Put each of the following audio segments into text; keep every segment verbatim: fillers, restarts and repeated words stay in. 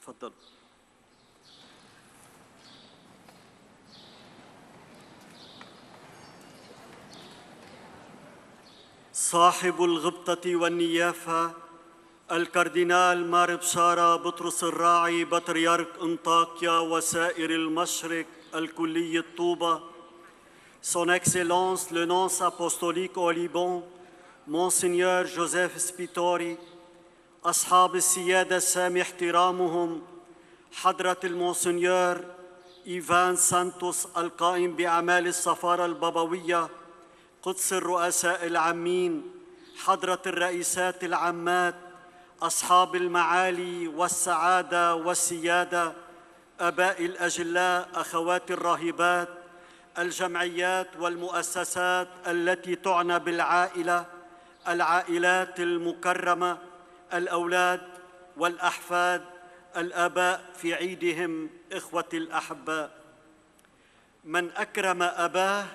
تفضل. صاحب الغبطة والنيافة الكاردينال مار بشارة بطرس الراعي بطريرك انطاكيا وسائر المشرق الكلية طوبة، Son Excellence le nonce apostolique au Liban Monseigneur Joseph Spitori، أصحاب السيادة السامي احترامهم حضرة المونسنيور إيفان سانتوس القائم بأعمال السفارة البابوية، قدس الرؤساء العامين، حضرة الرئيسات العامات، أصحاب المعالي والسعادة والسيادة، آباء الأجلاء، أخوات الراهبات، الجمعيات والمؤسسات التي تعنى بالعائلة، العائلات المكرمة، الأولاد والأحفاد، الآباء في عيدهم، إخوتي الأحباء. من أكرم أباه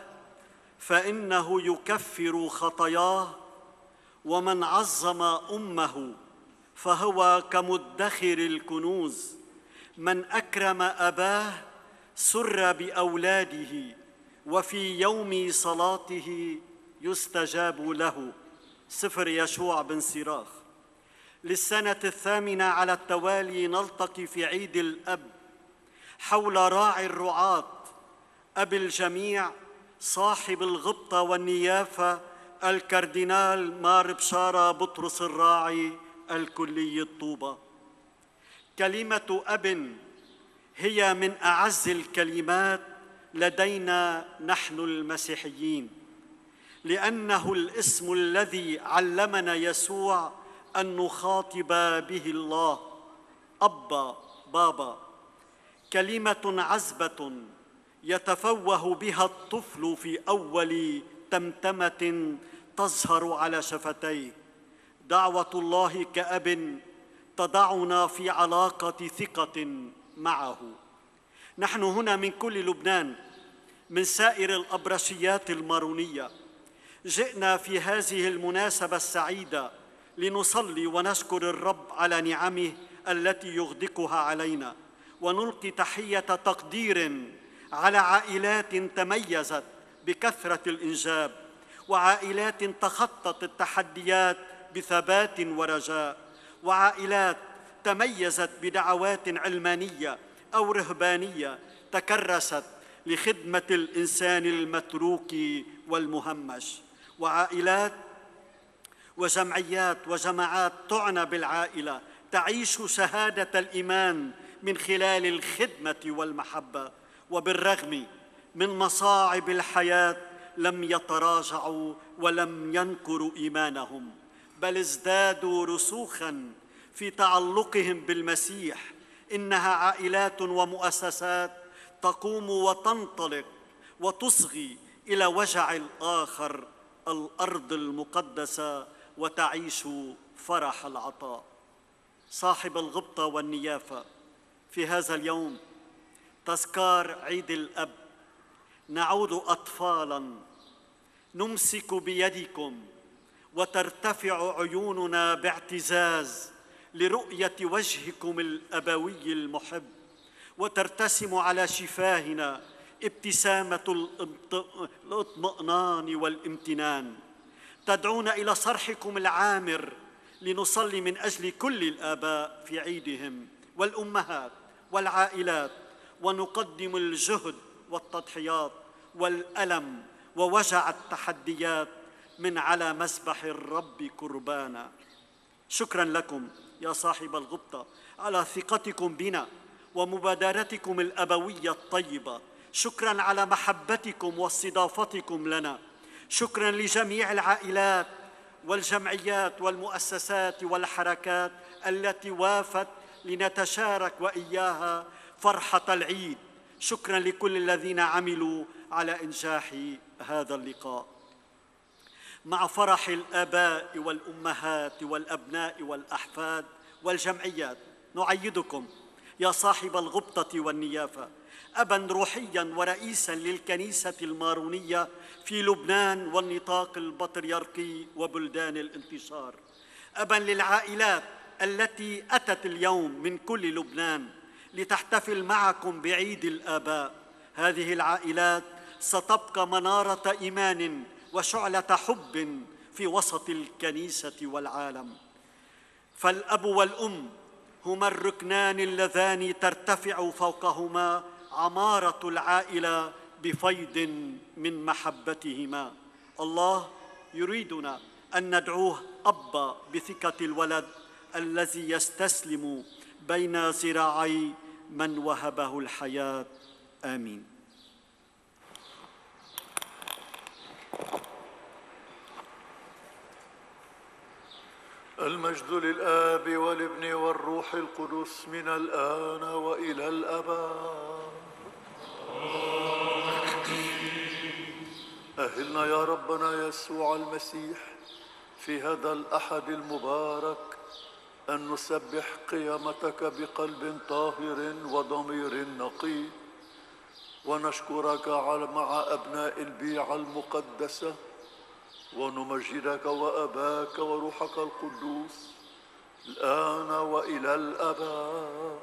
فإنه يكفر خطاياه، ومن عظم أمه فهو كمدخر الكنوز. من أكرم أباه سر بأولاده، وفي يوم صلاته يستجاب له. سفر يشوع بن سراخ. للسنة الثامنة على التوالي نلتقي في عيد الأب حول راعي الرعاة، أب الجميع، صاحب الغبطة والنيافة، الكاردينال مار بشارة بطرس الراعي الكلية طوبة. كلمة أب هي من أعز الكلمات لدينا نحن المسيحيين، لأنه الاسم الذي علمنا يسوع أن نخاطب به الله، أبا، بابا. كلمة عذبة يتفوه بها الطفل في أول تمتمة تظهر على شفتيه. دعوة الله كأب تضعنا في علاقة ثقة معه. نحن هنا من كل لبنان، من سائر الأبرشيات المارونية، جئنا في هذه المناسبة السعيدة لنصلي ونشكر الرب على نعمه التي يغدقها علينا، ونلقي تحية تقدير على عائلات تميزت بكثرة الإنجاب، وعائلات تخطت التحديات بثبات ورجاء، وعائلات تميزت بدعوات علمانية أو رهبانية تكرست لخدمة الإنسان المتروك والمهمش، وعائلات وجمعيات وجماعات تعنى بالعائلة تعيش شهادة الإيمان من خلال الخدمة والمحبة، وبالرغم من مصاعب الحياة لم يتراجعوا ولم ينكروا إيمانهم، بل ازدادوا رسوخاً في تعلقهم بالمسيح. إنها عائلات ومؤسسات تقوم وتنطلق وتصغي إلى وجع الآخر، الأرض المقدسة، وتعيش فرح العطاء. صاحب الغبطة والنيافة، في هذا اليوم تذكار عيد الأب نعود أطفالاً نمسك بيدكم وترتفع عيوننا باعتزاز لرؤية وجهكم الأبوي المحب، وترتسم على شفاهنا ابتسامة الاطمئنان والامتنان. تدعونا إلى صرحكم العامر لنصلي من أجل كل الآباء في عيدهم، والأمهات والعائلات، ونقدم الجهد والتضحيات والألم ووجع التحديات من على مذبح الرب قربانا. شكرا لكم يا صاحب الغبطة على ثقتكم بنا ومبادرتكم الأبوية الطيبة. شكرا على محبتكم واستضافتكم لنا. شكرا لجميع العائلات والجمعيات والمؤسسات والحركات التي وافت لنتشارك وإياها فرحة العيد. شكرا لكل الذين عملوا على إنجاح هذا اللقاء. مع فرح الآباء والأمهات والأبناء والأحفاد والجمعيات نعيدكم يا صاحب الغبطة والنيافة أباً روحياً ورئيساً للكنيسة المارونية في لبنان والنطاق البطريركي وبلدان الانتشار. أباً للعائلات التي أتت اليوم من كل لبنان لتحتفل معكم بعيد الآباء. هذه العائلات ستبقى منارة إيمان وشعلة حب في وسط الكنيسة والعالم. فالأب والأم هما الركنان اللذان ترتفع فوقهما عمارة العائلة بفيض من محبتهما. الله يريدنا أن ندعوه أبا بثقة الولد الذي يستسلم بين ذراعي من وهبه الحياة. آمين. المجد للآب والابن والروح القدس من الآن وإلى الأبد. أهلنا يا ربنا يسوع المسيح في هذا الأحد المبارك أن نسبح قيامتك بقلب طاهر وضمير نقي، ونشكرك مع أبناء البيعة المقدسة، ونمجدك وأباك وروحك القدوس الآن وإلى الأبد.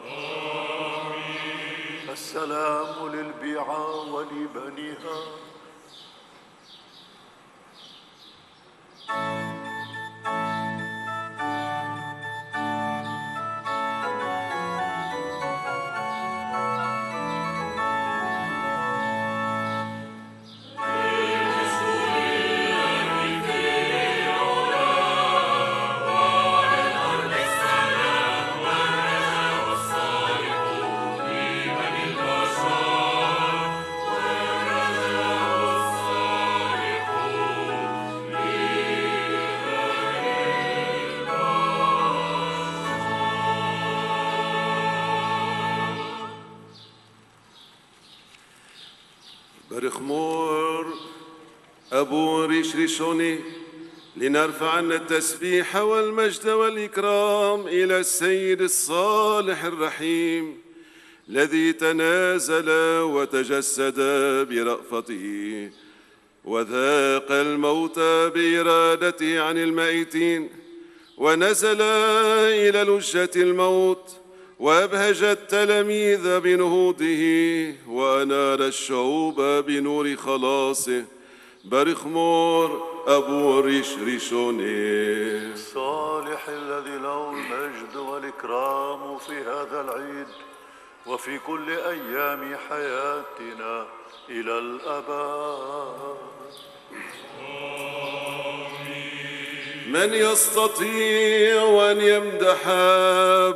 آمين. السلام للبيعة ولبنيها. برخمور أبو ريش ريشوني لنرفع عنا التسبيح والمجد والإكرام إلى السيد الصالح الرحيم الذي تنازل وتجسد برأفته وذاق الموت بإرادته عن الميتين، ونزل إلى لجة الموت وأبهج التلاميذ بنهوضه وأنار الشعوب بنور خلاصه. برخمور أبو ريش ريشوني الصالح الذي له المجد والإكرام في هذا العيد وفي كل أيام حياتنا إلى الأبد. من يستطيع أن يمدح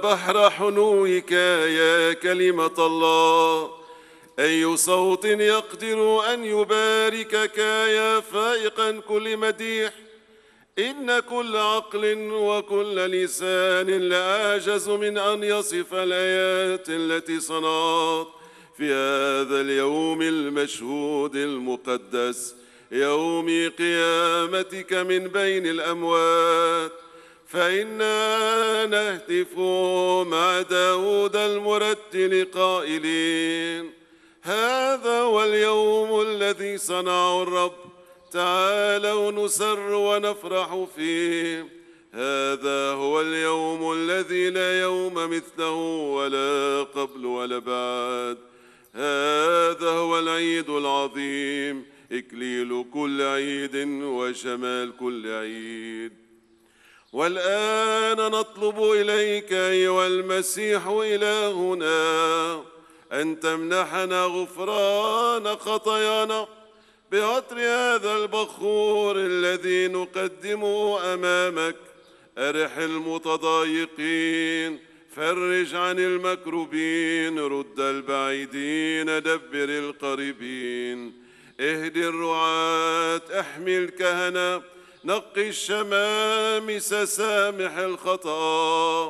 بحر حنوك يا كلمة الله؟ أي صوت يقدر أن يباركك يا فائقا كل مديح؟ إن كل عقل وكل لسان لأعجز من أن يصف الآيات التي صنعت في هذا اليوم المشهود المقدس، يوم قيامتك من بين الأموات. فإنا نهتف مع داود المرتل قائلين: هذا هو اليوم الذي صنعه الرب، تعالوا نسر ونفرح فيه. هذا هو اليوم الذي لا يوم مثله ولا قبل ولا بعد. هذا هو العيد العظيم، إكليل كل عيد وشمال كل عيد. والآن نطلب إليك أيها المسيح إلهنا أن تمنحنا غفران خطايانا بعطر هذا البخور الذي نقدمه أمامك أرح المتضايقين، فرج عن المكروبين، رد البعيدين، دبر القريبين، اهدي الرعاة، احمي الكهنة، نقي الشمامس، سامح الخطأ،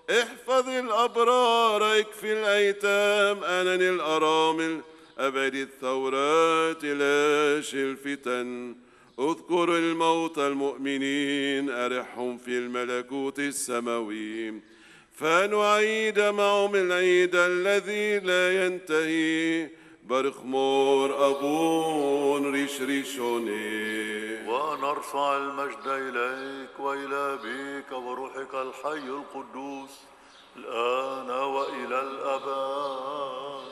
احفظ الأبرار، اكفي الأيتام، أنن الأرامل، أبعد الثورات، لاش الفتن، اذكر الموتى المؤمنين، أرحهم في الملكوت السماوي، فنعيد معهم العيد الذي لا ينتهي. برخمور أبون ريش ريشوني. ونرفع المجد إليك وإلى أبيك وروحك الحي القدوس الآن وإلى الأبد.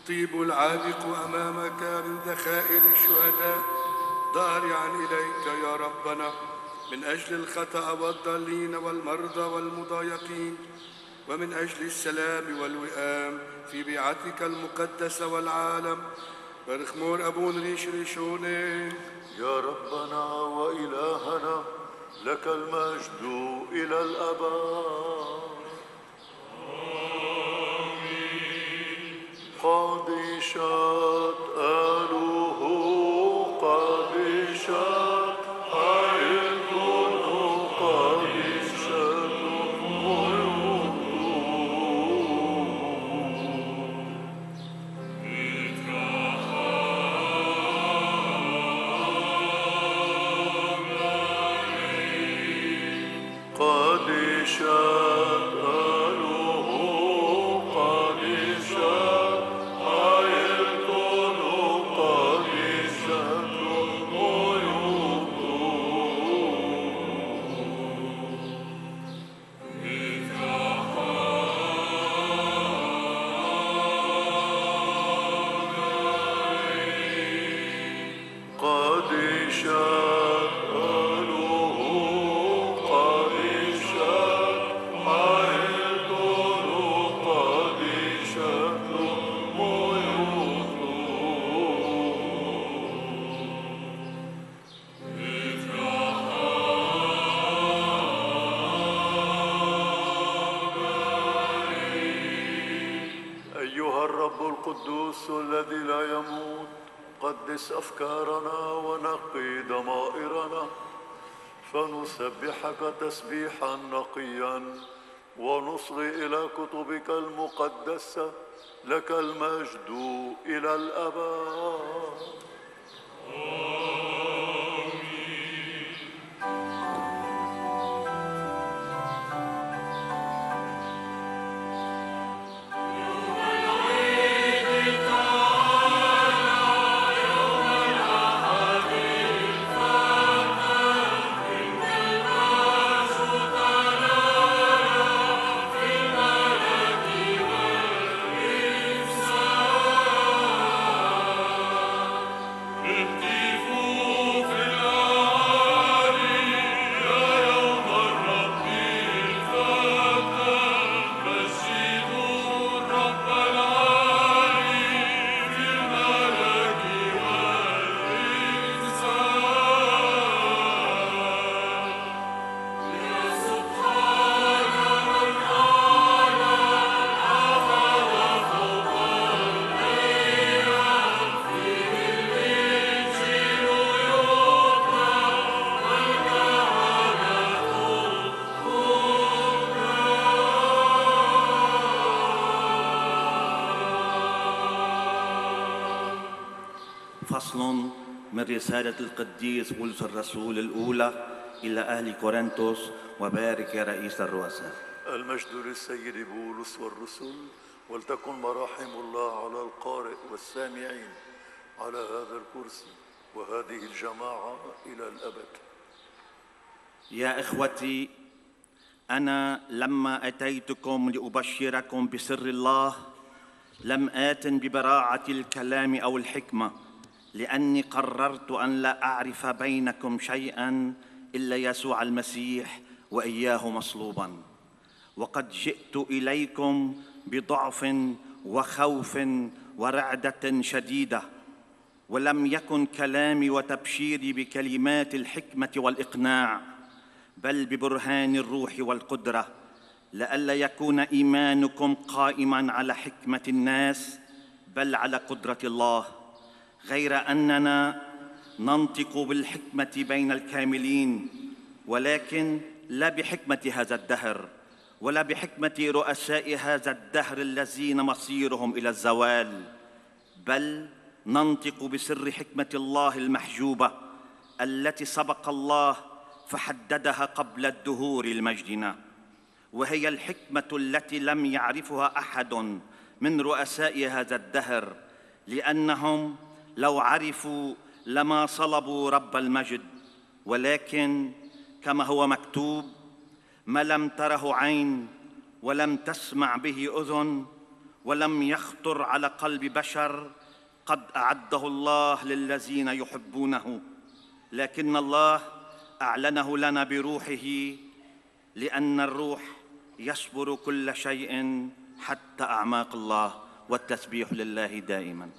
طيب العابق أمامك من ذخائر الشهداء ضارعا إليك يا ربنا من أجل الخطأ والضالين والمرضى والمضايقين، ومن أجل السلام والوئام في بيعتك المقدسة والعالم. برخمور أبون ريش ريشوني. يا ربنا وإلهنا لك المجد إلى الأبد. قديشات آله قديشات عيدنا قديشات غيوم قديشات آله قديشات عيدنا والقدوس الذي لا يموت قدس أفكارنا ونقي ضمائرنا فنسبحك تسبيحا نقيا ونصغي إلى كتبك المقدسة لك المجد إلى الأبد. فصل من رسالة القديس بولس الرسول الأولى إلى أهل كورنثوس. وبارك يا رئيس الرؤساء. المجد للسيد بولس والرسل، ولتكن مراحم الله على القارئ والسامعين على هذا الكرسي وهذه الجماعة إلى الأبد. يا إخوتي، أنا لما أتيتكم لأبشركم بسر الله لم آت ببراعة الكلام أو الحكمة، لأني قررت أن لا أعرف بينكم شيئا إلا يسوع المسيح وإياه مصلوبا. وقد جئت إليكم بضعف وخوف ورعدة شديدة، ولم يكن كلامي وتبشيري بكلمات الحكمة والإقناع، بل ببرهان الروح والقدرة، لئلا يكون إيمانكم قائما على حكمة الناس بل على قدرة الله، غير أننا ننطق بالحكمة بين الكاملين، ولكن لا بحكمة هذا الدهر ولا بحكمة رؤساء هذا الدهر الذين مصيرهم إلى الزوال، بل ننطق بسر حكمة الله المحجوبة التي سبق الله فحددها قبل الدهور المجدنا، وهي الحكمة التي لم يعرفها أحد من رؤساء هذا الدهر، لأنهم لو عرفوا لما صلبوا رب المجد. ولكن كما هو مكتوب: ما لم تره عين ولم تسمع به أذن ولم يخطر على قلب بشر قد أعده الله للذين يحبونه، لكن الله أعلنه لنا بروحه، لأن الروح يصبر كل شيء حتى أعماق الله، والتسبيح لله دائما.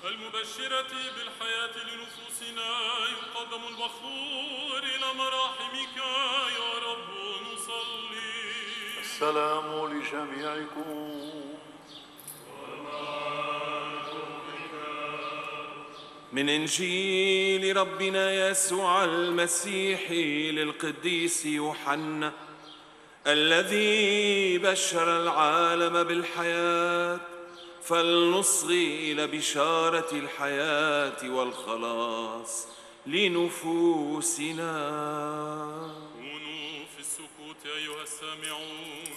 المبشرة بالحياة لنفوسنا يقدم البخور إلى مراحمك يا رب نصلي. السلام لجميعكم. ومع روحك من إنجيل ربنا يسوع المسيح للقديس يوحنا الذي بشر العالم بالحياة، فلنصغي إلى بشارة الحياة والخلاص لنفوسنا. كونوا في السكوت أيها السامعون،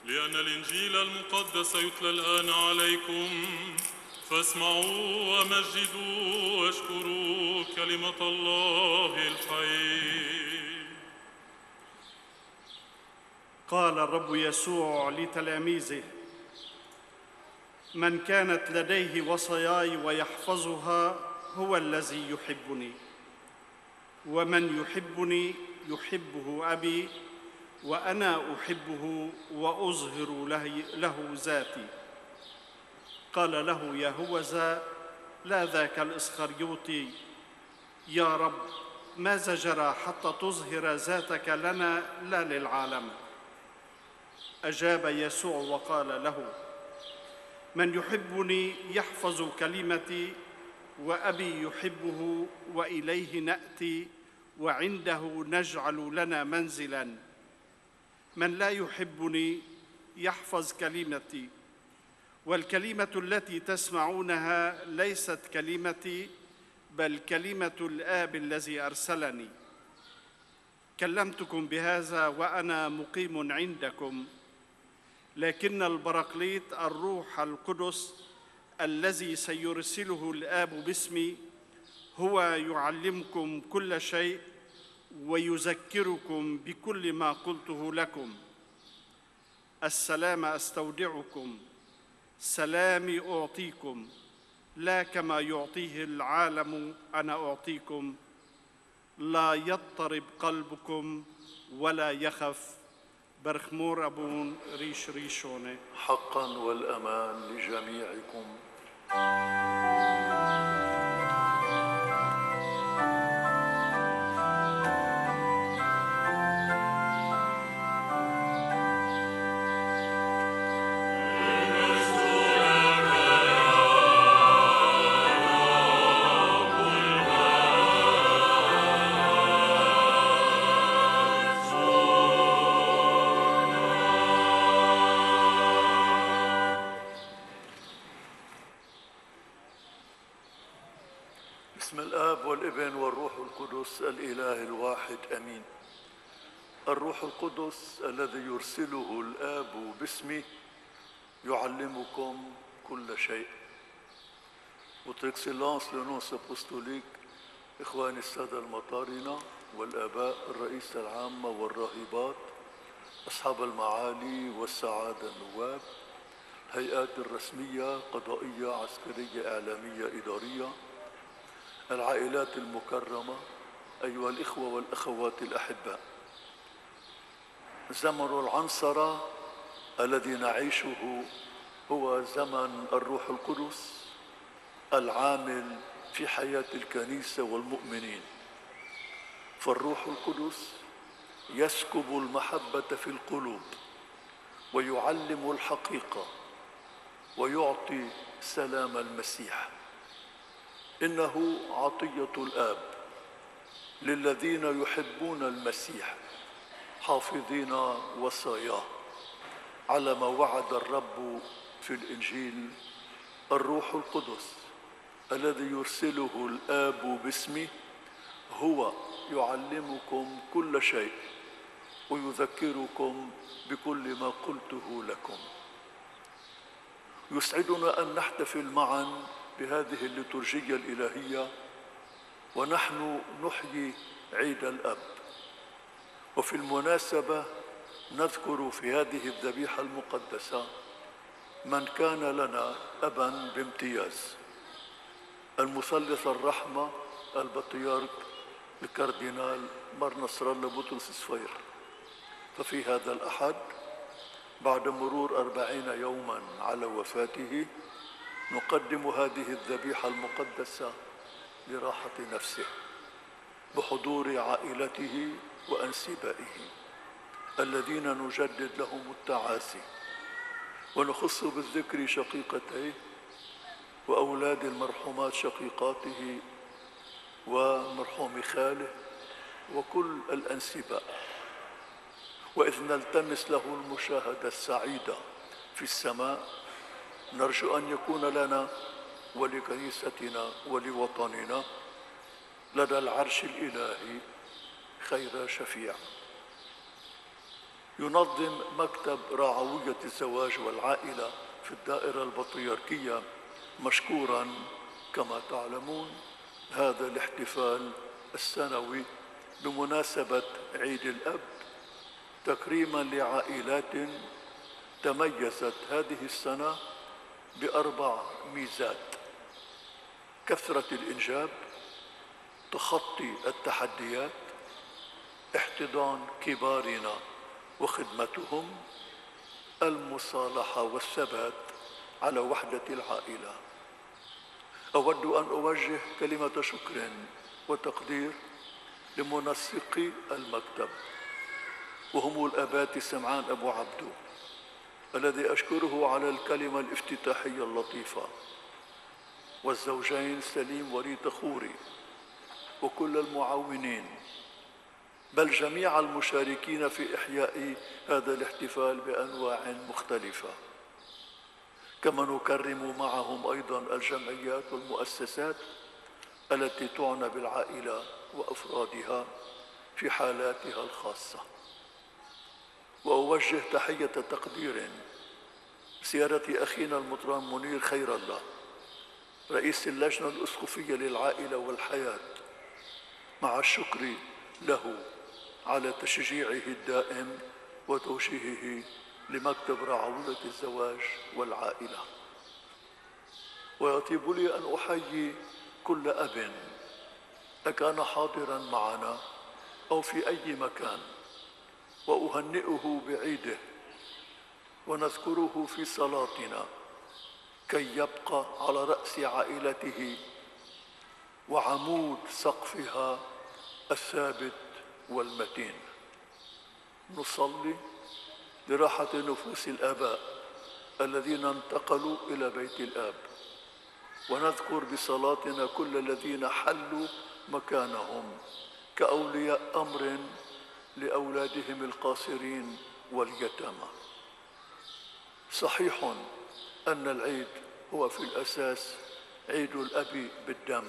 لأن الإنجيل المقدس يتلى الآن عليكم، فاسمعوا ومجدوا واشكروا كلمة الله الحي. قال الرب يسوع لتلاميذه: من كانت لديه وصاياي ويحفظها هو الذي يحبني، ومن يحبني يحبه أبي، وأنا أحبه وأظهر له ذاتي. قال له يهوذا لا ذاك الإسخريوطي: يا رب، ماذا جرى حتى تظهر ذاتك لنا لا للعالم؟ أجاب يسوع وقال له: من يحبني يحفظ كلمتي، وأبي يحبه وإليه نأتي وعنده نجعل لنا منزلاً. من لا يحبني يحفظ كلمتي، والكلمة التي تسمعونها ليست كلمتي بل كلمة الآب الذي أرسلني. كلمتكم بهذا وأنا مقيم عندكم، لكن البراقليط الروح القدس الذي سيرسله الآب باسمي هو يعلمكم كل شيء ويذكركم بكل ما قلته لكم. السلام أستودعكم، سلامي أعطيكم، لا كما يعطيه العالم أنا أعطيكم. لا يضطرب قلبكم ولا يخف. برخمور أبون ريش ريشوني. حقا والأمان لجميعكم. بسم الآب والابن والروح القدس الإله الواحد أمين. الروح القدس الذي يرسله الآب باسمي يعلمكم كل شيء. Votre Excellence le nonce apostolique، إخواني السادة المطارنة والآباء الرئيس العامة والراهبات، أصحاب المعالي والسعادة النواب، هيئات الرسمية قضائية عسكرية إعلامية إدارية، العائلات المكرمة، أيها الإخوة والأخوات الأحباء. زمن العنصرة الذي نعيشه هو زمن الروح القدس العامل في حياة الكنيسة والمؤمنين. فالروح القدس يسكب المحبة في القلوب ويعلم الحقيقة ويعطي سلام المسيح. إنه عطية الآب للذين يحبون المسيح حافظين وصاياه، على ما وعد الرب في الإنجيل: الروح القدس الذي يرسله الآب باسمي هو يعلمكم كل شيء ويذكركم بكل ما قلته لكم. يسعدنا أن نحتفل معا بهذه الليتورجية الإلهية ونحن نحيي عيد الأب. وفي المناسبة نذكر في هذه الذبيحة المقدسة من كان لنا أبا بامتياز: المثلث الرحمة البطريرك الكاردينال مار نصر الله بطرس صفير. ففي هذا الأحد بعد مرور أربعين يوما على وفاته نقدم هذه الذبيحة المقدسة لراحة نفسه بحضور عائلته وأنسبائه الذين نجدد لهم التعازي، ونخص بالذكر شقيقتيه وأولاد المرحومات شقيقاته ومرحوم خاله وكل الأنسباء، وإذ نلتمس له المشاهدة السعيدة في السماء نرجو أن يكون لنا ولكنيستنا ولوطننا لدى العرش الإلهي خير شفيع. ينظم مكتب راعوية الزواج والعائلة في الدائرة البطريركية مشكوراً كما تعلمون هذا الاحتفال السنوي بمناسبة عيد الأب، تكريماً لعائلات تميزت هذه السنة بأربع ميزات: كثرة الإنجاب، تخطي التحديات، احتضان كبارنا وخدمتهم، المصالحة والثبات على وحدة العائلة. أود أن أوجه كلمة شكر وتقدير لمنسقي المكتب، وهم الآبات سمعان أبو عبدو الذي أشكره على الكلمة الافتتاحية اللطيفة، والزوجين سليم وريت خوري، وكل المعاونين، بل جميع المشاركين في إحياء هذا الاحتفال بأنواع مختلفة. كما نكرم معهم أيضا الجمعيات والمؤسسات التي تعنى بالعائلة وأفرادها في حالاتها الخاصة. وأوجه تحية تقدير سيادة أخينا المطران منير خير الله رئيس اللجنة الأسقفية للعائلة والحياة، مع الشكر له على تشجيعه الدائم وتوجيهه لمكتب راعوية الزواج والعائلة. ويطيب لي أن أحيي كل أب أكان حاضراً معنا أو في أي مكان وأهنئه بعيده، ونذكره في صلاتنا كي يبقى على رأس عائلته وعمود سقفها الثابت والمتين. نصلي لراحة نفوس الآباء الذين انتقلوا إلى بيت الآب، ونذكر بصلاتنا كل الذين حلوا مكانهم كأولياء أمر لأولادهم القاصرين واليتامى. صحيح أن العيد هو في الأساس عيد الأب بالدم،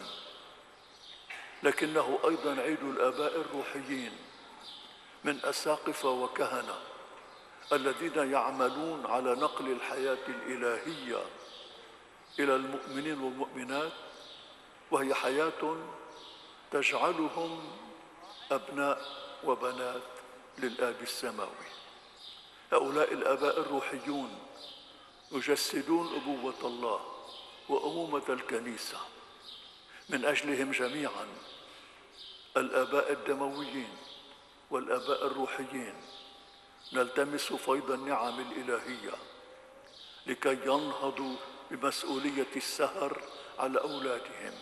لكنه أيضا عيد الآباء الروحيين من أساقفة وكهنة الذين يعملون على نقل الحياة الإلهية إلى المؤمنين والمؤمنات، وهي حياة تجعلهم أبناء وبنات للآب السماوي. هؤلاء الآباء الروحيون يجسدون أبوة الله وأمومة الكنيسة. من أجلهم جميعا الآباء الدمويين والآباء الروحيين نلتمس فيض النعم الإلهية لكي ينهضوا بمسؤولية السهر على أولادهم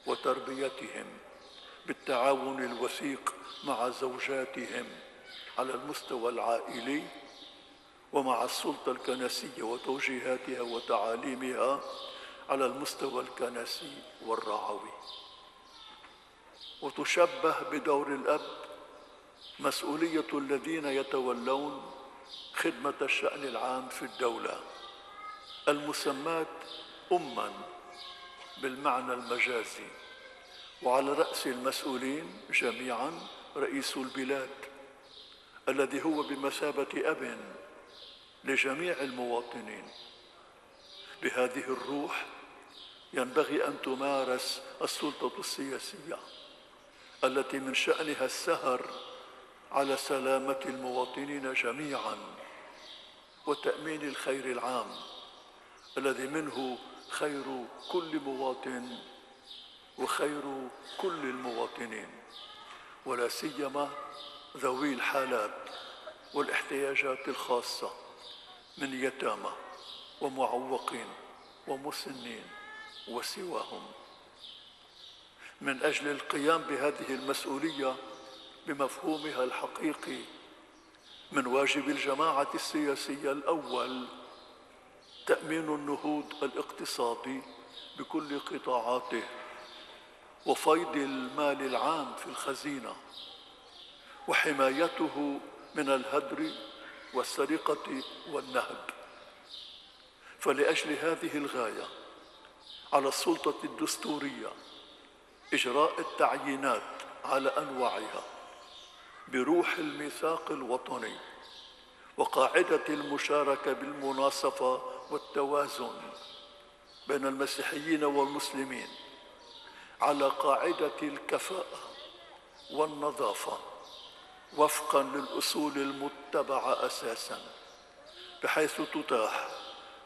وتربيتهم بالتعاون الوثيق مع زوجاتهم على المستوى العائلي ومع السلطة الكنسية وتوجيهاتها وتعاليمها على المستوى الكنسي والرعوي. وتشبه بدور الأب مسؤولية الذين يتولون خدمة الشأن العام في الدولة المسماة أماً بالمعنى المجازي، وعلى رأس المسؤولين جميعاً رئيس البلاد الذي هو بمثابة أب لجميع المواطنين. بهذه الروح ينبغي أن تمارس السلطة السياسية التي من شأنها السهر على سلامة المواطنين جميعاً وتأمين الخير العام الذي منه خير كل مواطن وخير كل المواطنين، ولا سيما ذوي الحالات والاحتياجات الخاصة من يتامى ومعوقين ومسنين وسواهم. من أجل القيام بهذه المسؤولية بمفهومها الحقيقي من واجب الجماعة السياسية الأول تأمين النهوض الاقتصادي بكل قطاعاته وفيض المال العام في الخزينة وحمايته من الهدر والسرقة والنهب. فلأجل هذه الغاية على السلطة الدستورية إجراء التعيينات على أنواعها بروح الميثاق الوطني وقاعدة المشاركة بالمناصفة والتوازن بين المسيحيين والمسلمين على قاعدة الكفاءة والنظافة وفقا للأصول المتبعة أساسا، بحيث تتاح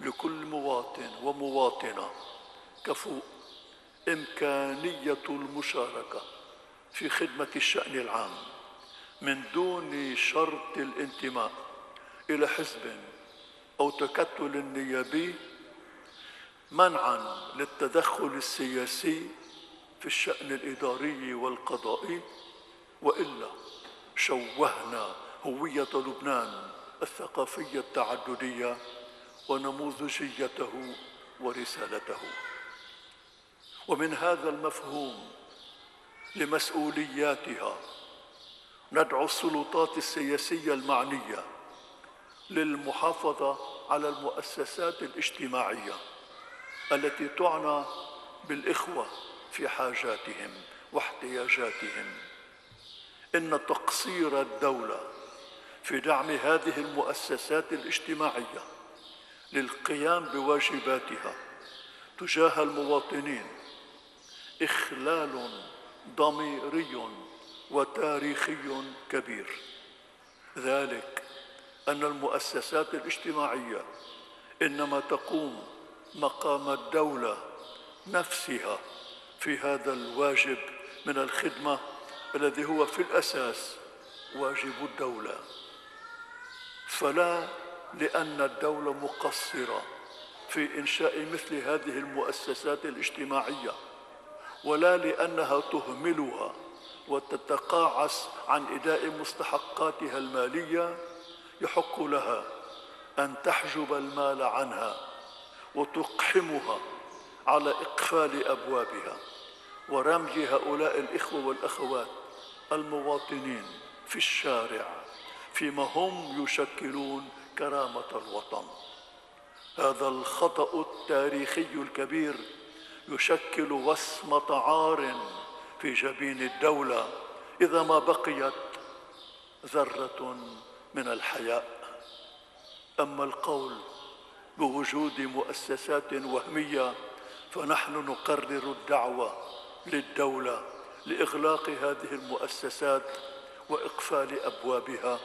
لكل مواطن ومواطنة كفؤ إمكانية المشاركة في خدمة الشأن العام من دون شرط الانتماء إلى حزب أو تكتل نيابي، منعا للتدخل السياسي في الشأن الإداري والقضائي، وإلا شوهنا هوية لبنان الثقافية التعددية ونموذجيته ورسالته. ومن هذا المفهوم لمسؤولياتها ندعو السلطات السياسية المعنية للمحافظة على المؤسسات الاجتماعية التي تعنى بالإخوة في حاجاتهم واحتياجاتهم. إن تقصير الدولة في دعم هذه المؤسسات الاجتماعية للقيام بواجباتها تجاه المواطنين إخلال ضميري وتاريخي كبير، ذلك أن المؤسسات الاجتماعية إنما تقوم مقام الدولة نفسها في هذا الواجب من الخدمة الذي هو في الأساس واجب الدولة. فلا لأن الدولة مقصرة في إنشاء مثل هذه المؤسسات الاجتماعية، ولا لأنها تهملها وتتقاعس عن إداء مستحقاتها المالية، يحق لها أن تحجب المال عنها وتقحمها على إقفال أبوابها ورمي هؤلاء الإخوة والأخوات المواطنين في الشارع فيما هم يشكلون كرامة الوطن. هذا الخطأ التاريخي الكبير يشكل وصمة عار في جبين الدولة إذا ما بقيت ذرة من الحياء. أما القول بوجود مؤسسات وهمية فنحن نقرر الدعوة للدولة لإغلاق هذه المؤسسات وإقفال أبوابها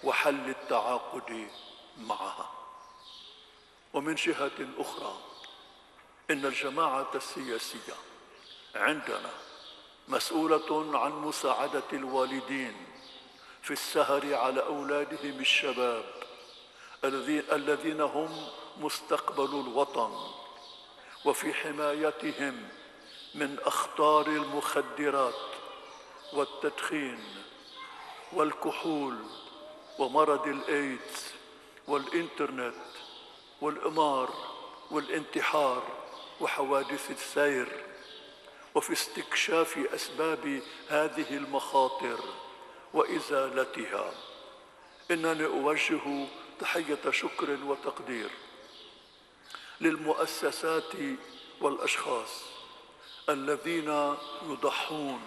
وحل التعاقد معها. ومن جهة أخرى إن الجماعة السياسية عندنا مسؤولة عن مساعدة الوالدين في السهر على أولادهم الشباب الذين هم مستقبل الوطن، وفي حمايتهم من أخطار المخدرات والتدخين والكحول ومرض الإيدز والإنترنت والإمار والانتحار وحوادث السير، وفي استكشاف أسباب هذه المخاطر وإزالتها. إنني أوجه تحية شكر وتقدير للمؤسسات والأشخاص الذين يضحون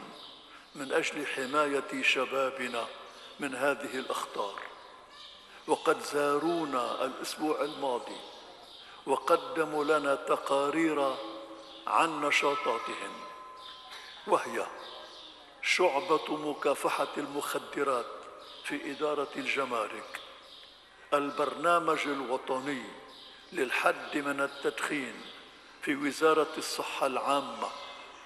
من أجل حماية شبابنا من هذه الأخطار، وقد زارونا الأسبوع الماضي وقدموا لنا تقارير عن نشاطاتهم، وهي شعبة مكافحة المخدرات في إدارة الجمارك، البرنامج الوطني للحد من التدخين في وزارة الصحة العامة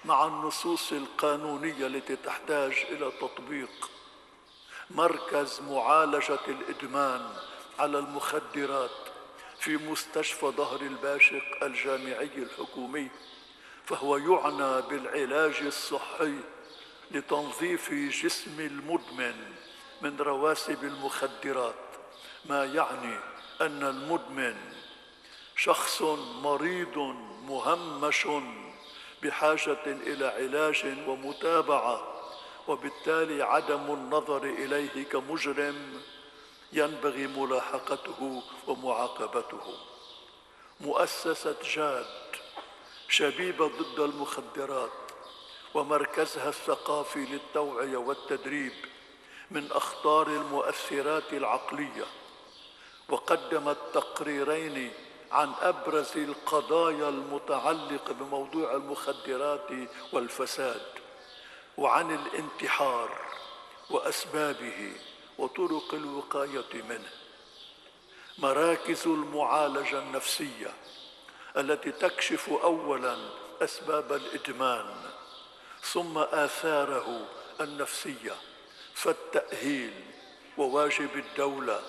مع النصوص القانونية التي تحتاج إلى تطبيق، مركز معالجة الإدمان على المخدرات في مستشفى ظهر الباشق الجامعي الحكومي، فهو يعنى بالعلاج الصحي لتنظيف جسم المدمن من رواسب المخدرات، ما يعني أن المدمن شخص مريض مهمش بحاجة إلى علاج ومتابعة، وبالتالي عدم النظر إليه كمجرم ينبغي ملاحقته ومعاقبته. مؤسسة جاد شبيبة ضد المخدرات ومركزها الثقافي للتوعية والتدريب من أخطار المؤثرات العقلية، وقدمت تقريرين عن أبرز القضايا المتعلقة بموضوع المخدرات والفساد، وعن الانتحار وأسبابه وطرق الوقاية منه. مراكز المعالجة النفسية التي تكشف أولاً أسباب الإدمان ثم آثاره النفسية، فالتأهيل وواجب الدولة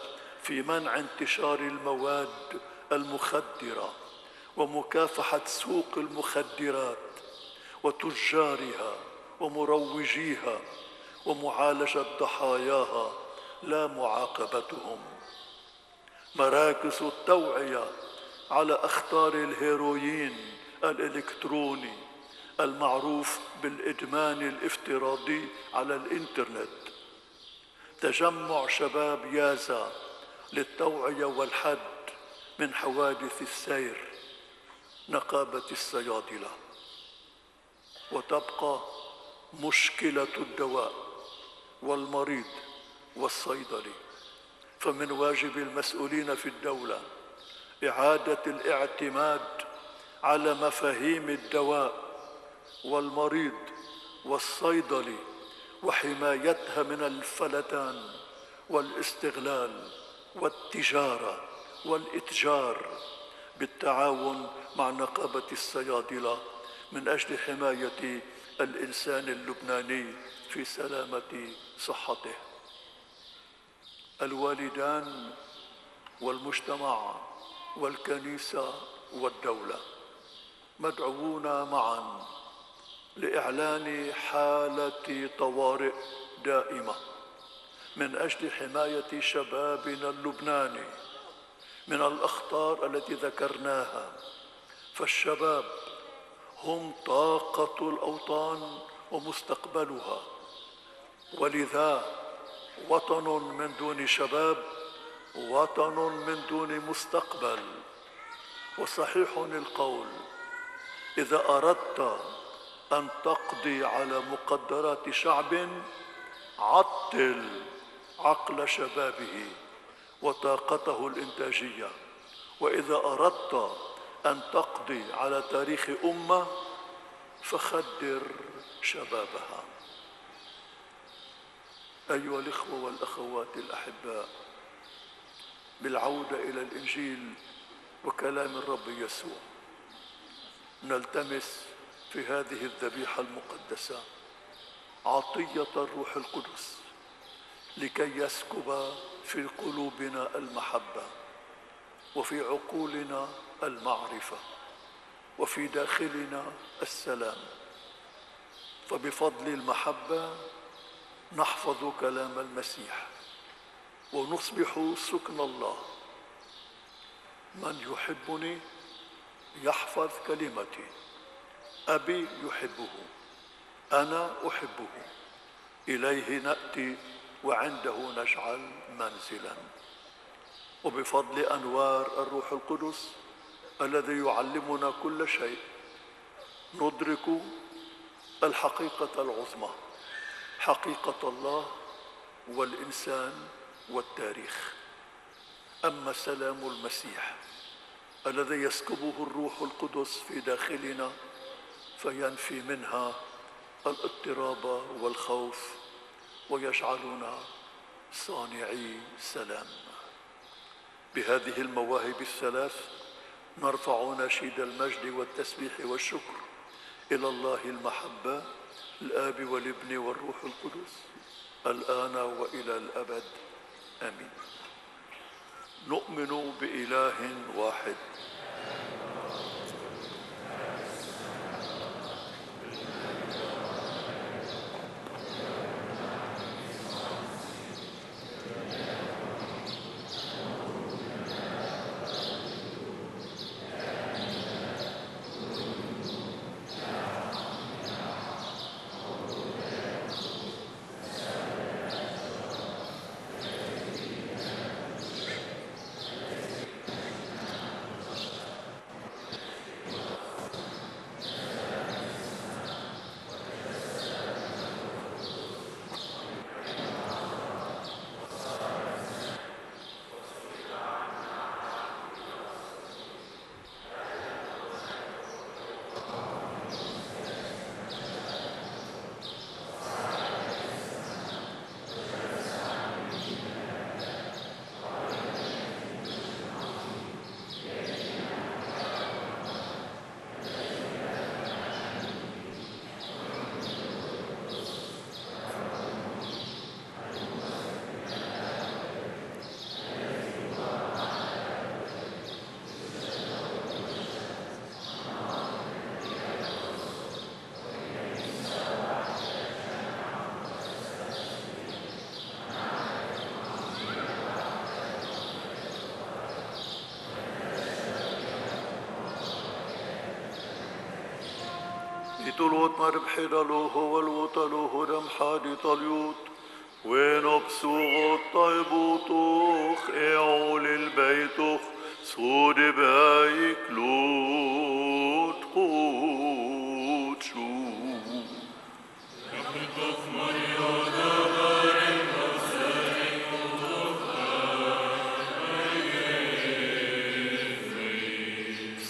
في منع انتشار المواد المخدرة ومكافحة سوق المخدرات وتجارها ومروجيها ومعالجة ضحاياها لا معاقبتهم. مراكز التوعية على أخطار الهيروين الإلكتروني المعروف بالإدمان الافتراضي على الإنترنت. تجمع شباب يازا للتوعية والحد من حوادث السير. نقابة الصيادلة. وتبقى مشكلة الدواء والمريض والصيدلي، فمن واجب المسؤولين في الدولة إعادة الاعتماد على مفاهيم الدواء والمريض والصيدلي وحمايتها من الفلتان والاستغلال والتجارة والإتجار بالتعاون مع نقابة الصيادلة من أجل حماية الإنسان اللبناني في سلامة صحته. الوالدان والمجتمع والكنيسة والدولة مدعوون معا لإعلان حالة طوارئ دائمة من أجل حماية شبابنا اللبناني من الأخطار التي ذكرناها. فالشباب هم طاقة الأوطان ومستقبلها، ولذا وطن من دون شباب وطن من دون مستقبل. وصحيح القول: إذا أردت أن تقضي على مقدرات شعب عطل عقل شبابه وطاقته الإنتاجية، وإذا أردت أن تقضي على تاريخ أمة فخدر شبابها. أيها الإخوة والأخوات الأحباء، بالعودة إلى الإنجيل وكلام الرب يسوع، نلتمس في هذه الذبيحة المقدسة عطية الروح القدس لكي يسكب في قلوبنا المحبة، وفي عقولنا المعرفة، وفي داخلنا السلام. فبفضل المحبة نحفظ كلام المسيح ونصبح سكن الله. من يحبني يحفظ كلمتي، أبي يحبه، أنا أحبه، إليه نأتي وعنده نجعل منزلا. وبفضل أنوار الروح القدس الذي يعلمنا كل شيء ندرك الحقيقة العظمى، حقيقة الله والإنسان والتاريخ. أما سلام المسيح الذي يسكبه الروح القدس في داخلنا فينفي منها الاضطراب والخوف ويجعلنا صانعي سلام. بهذه المواهب الثلاث نرفع نشيد المجد والتسبيح والشكر إلى الله المحبة الآب والابن والروح القدس الآن وإلى الأبد آمين. نؤمن بإله واحد يطلوت مربحي دلوه والوطلوه دم حادي طليوت وين بسوغ الطيبوتوخ اعول البيتوخ صود بايك لوت قوت شو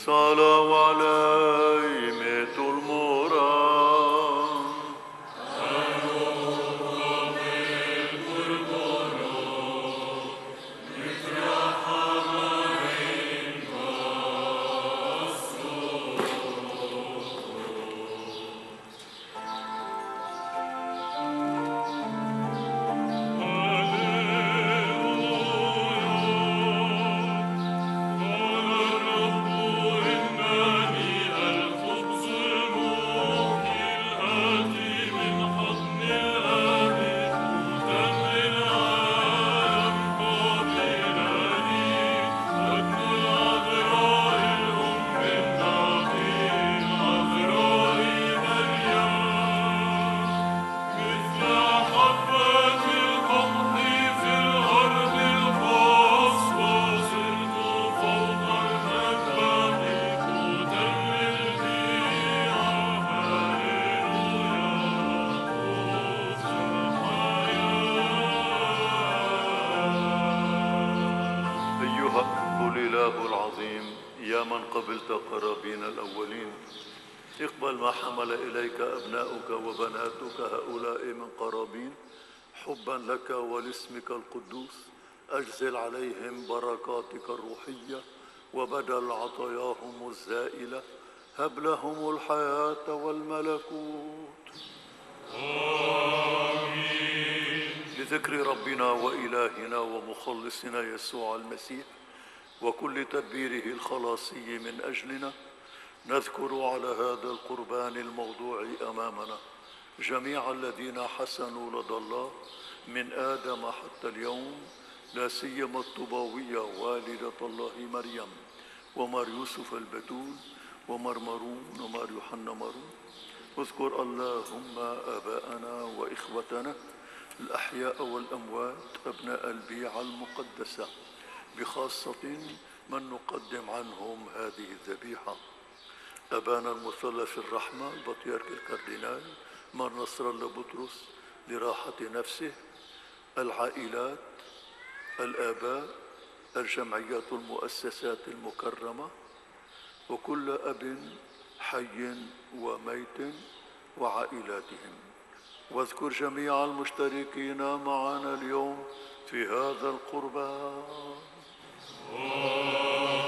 صلوا علي ميت المرام قبلت قرابين الأولين اقبل ما حمل إليك أبناؤك وبناتك هؤلاء من قرابين حبا لك ولاسمك القدوس أجزل عليهم بركاتك الروحية وبدل عطاياهم الزائلة هب لهم الحياة والملكوت آمين. لذكر ربنا وإلهنا ومخلصنا يسوع المسيح وكل تدبيره الخلاصي من أجلنا نذكر على هذا القربان الموضوع أمامنا جميع الذين حسنوا لدى الله من آدم حتى اليوم لا سيما الطوباوية والدة الله مريم ومار يوسف البتول ومار مارون ومار يوحنا مارون. اذكر اللهم آباءنا وإخوتنا الأحياء والأموات أبناء البيعة المقدسة بخاصة من نقدم عنهم هذه الذبيحة أبانا المثلث الرحمة البطيرك الكاردينال مار نصر الله بطرس لراحة نفسه العائلات الآباء الجمعيات المؤسسات المكرمة وكل أب حي وميت وعائلاتهم واذكر جميع المشتركين معنا اليوم في هذا القربان آمين.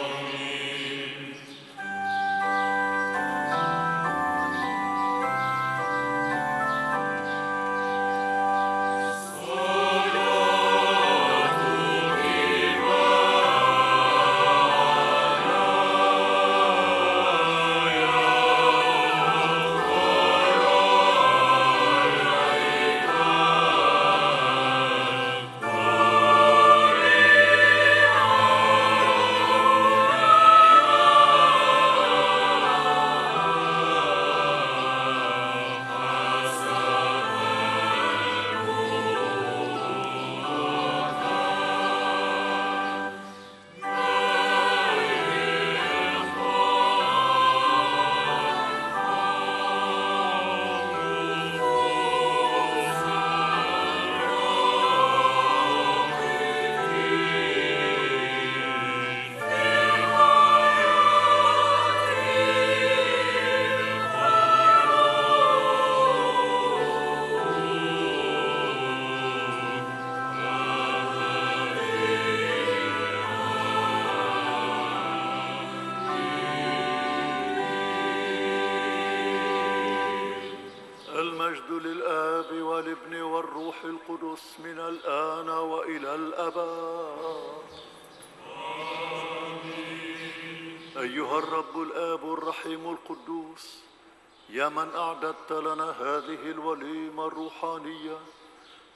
المجد للآب والابن والروح القدس من الآن وإلى الأبد آمين. أيها الرب الآب الرحيم القدوس يا من أعددت لنا هذه الوليمة الروحانية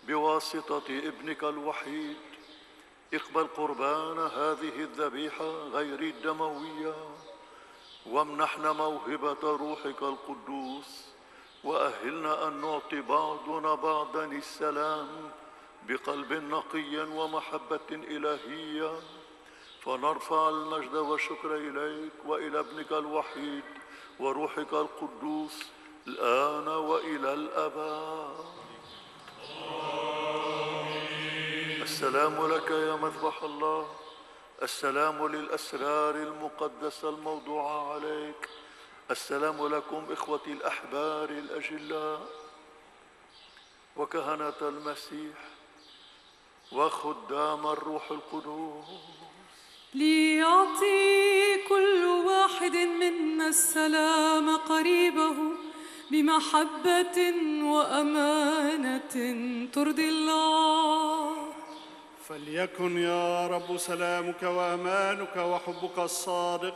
بواسطة ابنك الوحيد اقبل قربان هذه الذبيحة غير الدموية وامنحنا موهبة روحك القدوس، وأهلنا أن نعطي بعضنا بعضا السلام بقلب نقي ومحبة إلهية، فنرفع المجد والشكر إليك وإلى ابنك الوحيد وروحك القدوس الآن وإلى الأبد. السلام لك يا مذبح الله، السلام للأسرار المقدسة الموضوعة عليك، السلام لكم إخوتي الأحبار الأجلاء وكهنة المسيح وخدام الروح القدوس. ليعطي كل واحد منا السلام قريبه بمحبة وأمانة ترضي الله. فليكن يا رب سلامك وأمانك وحبك الصادق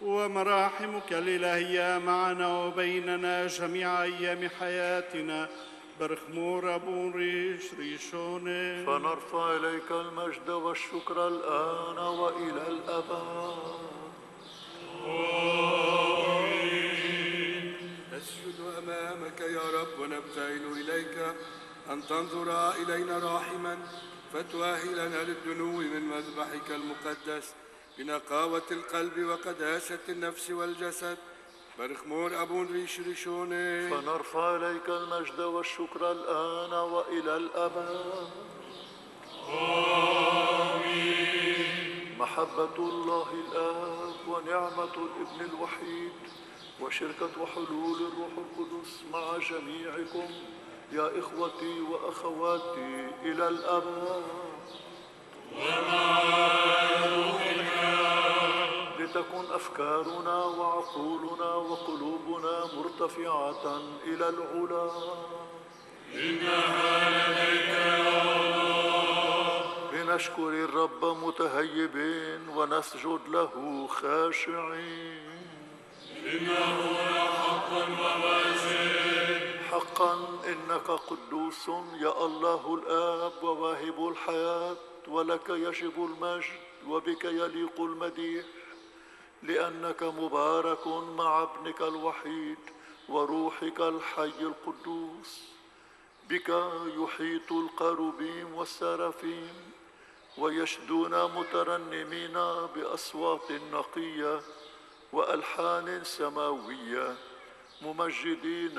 ومراحمك الإلهية معنا وبيننا جميع أيام حياتنا برخمور أبو ريش ريشوني. فنرفع إليك المجد والشكر الآن وإلى الأبد. نسجد أمامك يا رب ونبتهل إليك أن تنظر إلينا راحما، فتؤهلنا للدنو من مذبحك المقدس بنقاوة القلب وقداسة النفس والجسد برخمور أبو ريش ريشوني. فنرفع إليك المجد والشكر الآن وإلى الأبد. آمين. محبة الله الآب ونعمة الابن الوحيد وشركة وحلول الروح القدس مع جميعكم يا إخوتي وأخواتي إلى الأبد. ومع روحك. لتكن أفكارنا وعقولنا وقلوبنا مرتفعة إلى العلا. إنها لديك يا الله. لنشكر الرب متهيبين ونسجد له خاشعين. إنه حقا وواجب. حقا إنك قدوس يا الله الآب وواهب الحياة، ولك يجب المجد وبك يليق المديح، لأنك مبارك مع ابنك الوحيد وروحك الحي القدوس. بك يحيط القروبيم والسرافيم ويشدون مترنمين بأصوات نقية وألحان سماوية ممجدين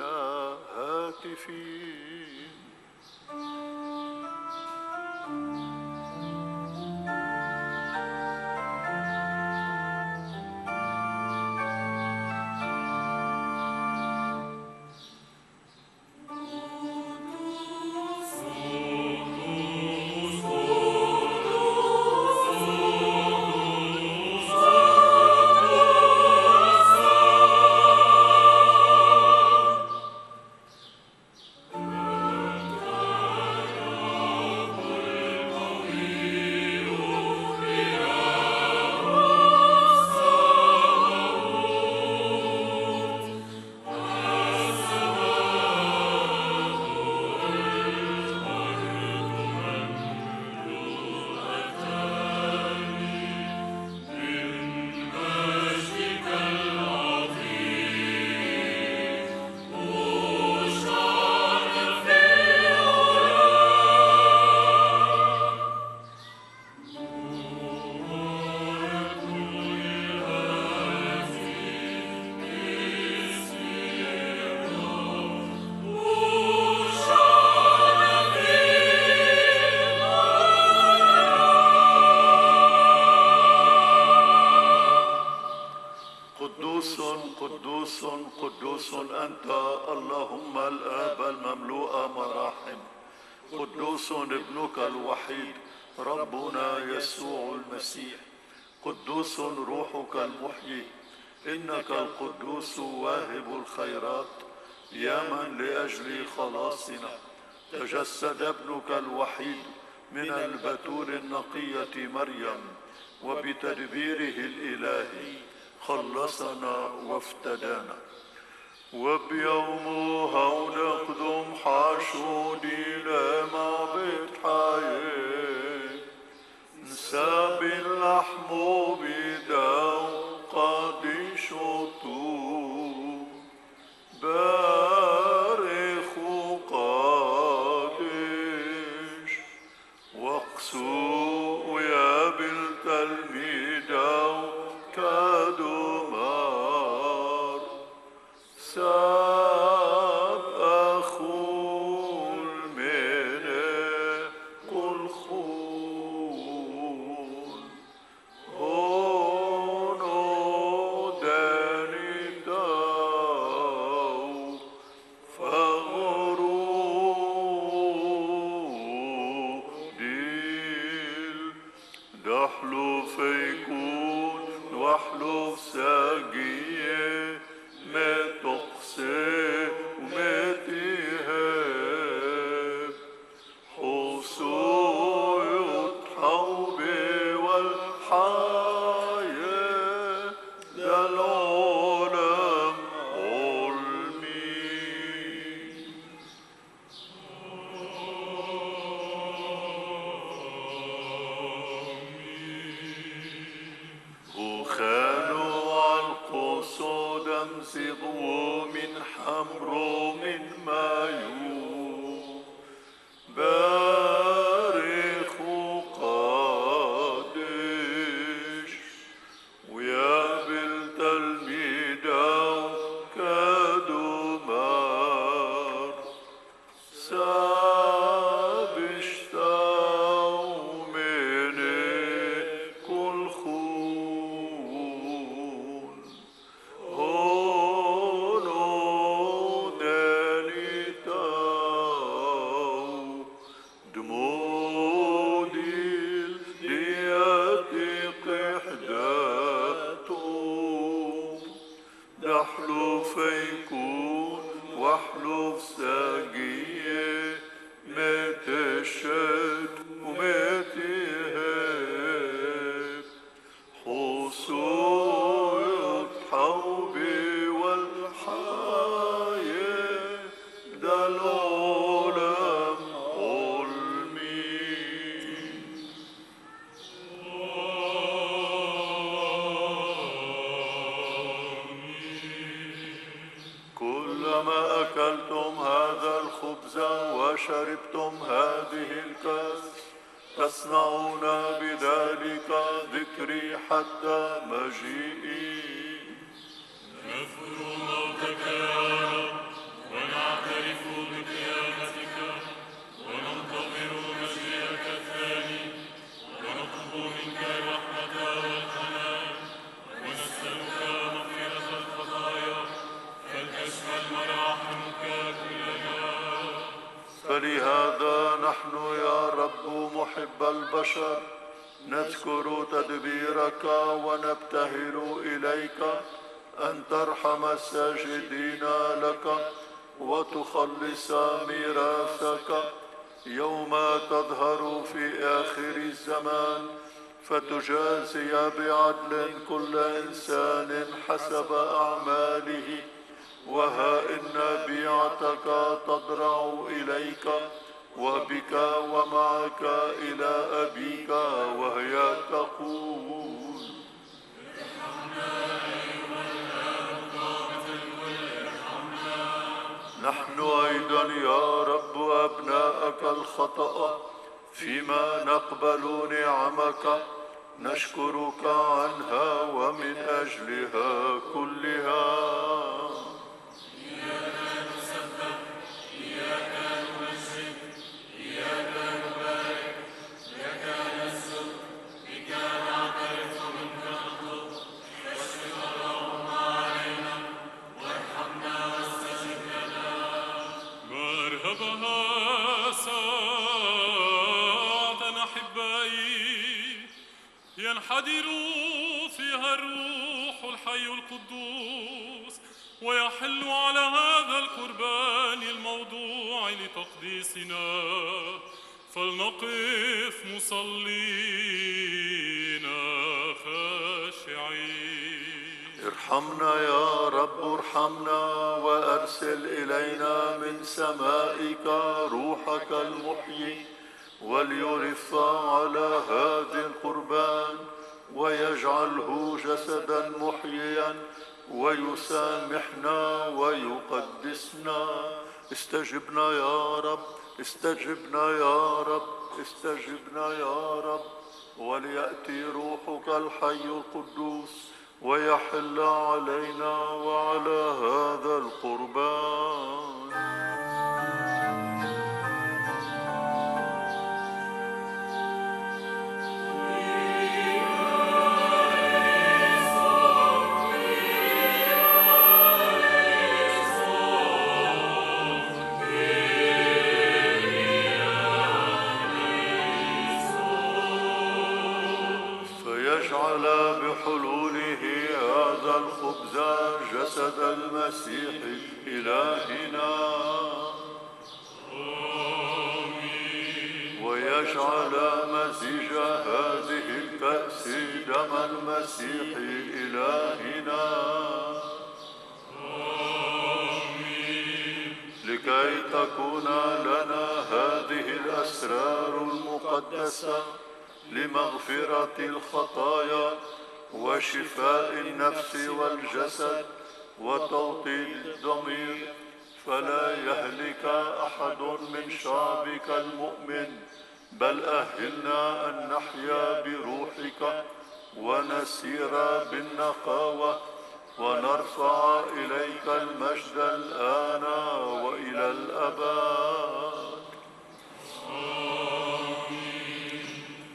هاتفين. قدوس قدوس أنت اللهم الآب المملوء مراحم، قدوس ابنك الوحيد ربنا يسوع المسيح، قدوس روحك المحيي، إنك القدوس واهب الخيرات، يا من لأجل خلاصنا تجسد ابنك الوحيد من البتول النقية مريم، وبتدبيره الإلهي خلصنا وافتدانا. وبيوم هون قدم حاشودي لما بتحايي نساب اللحم بداو قادشو خانوا علقوا صودا امزغوا من حمرو من مايو بارخ وقادش ويا بالتلميذ كادوا مار سابشتاو مني كل خون هونو داليتاو دموديل دياتي قحداتو دحلو فيكون واحلف ساقية مات الشد ومات هيك حصول حوبي والحياة دا العالم علمي كلما أكلتم هذا الخبز وشربتم هذه الكأس تصنعون بذلك ذكري حتى مجيئي. نذكر موتك يا رب ونعترف بقيامتك وننتظر مجيئك الثاني ونطلب منك الرحمة والحنان ونسألك مغفرة الخطايا فلتشمل مراحمك كلنا. فلهذا نحن يا رب محب البشر نذكر تدبيرك ونبتهل إليك أن ترحم الساجدين لك وتخلص ميراثك يوم تظهر في آخر الزمان فتجازي بعدل كل إنسان حسب أعماله. وها إن بيعتك تضرع إليك وبك ومعك إلى أبيك وهي تقول نحن أيضا يا رب أبناءك الخطأ فيما نقبل نعمك نشكرك عنها ومن أجلها كلها. ينحدر فيها الروح الحي القدوس ويحل على هذا القربان الموضوع لتقديسنا فلنقف مصلين خاشعين. ارحمنا يا رب ارحمنا وأرسل إلينا من سمائك روحك المحيي وليرف على هذا القربان ويجعله جسدا محييا ويسامحنا ويقدسنا. استجبنا يا رب استجبنا يا رب استجبنا يا رب وليأتي روحك الحي القدوس ويحل علينا وعلى هذا القربان. بحلوله هذا الخبز جسد المسيح إلهنا آمين. ويجعل مزيج هذه الكأس دم المسيح إلهنا آمين. لكي تكون لنا هذه الأسرار المقدسة لمغفرة الخطايا وشفاء النفس والجسد وتوطيد الضمير، فلا يهلك أحد من شعبك المؤمن، بل أهلنا أن نحيا بروحك ونسير بالنقاوة ونرفع إليك المجد الآن وإلى الأبد.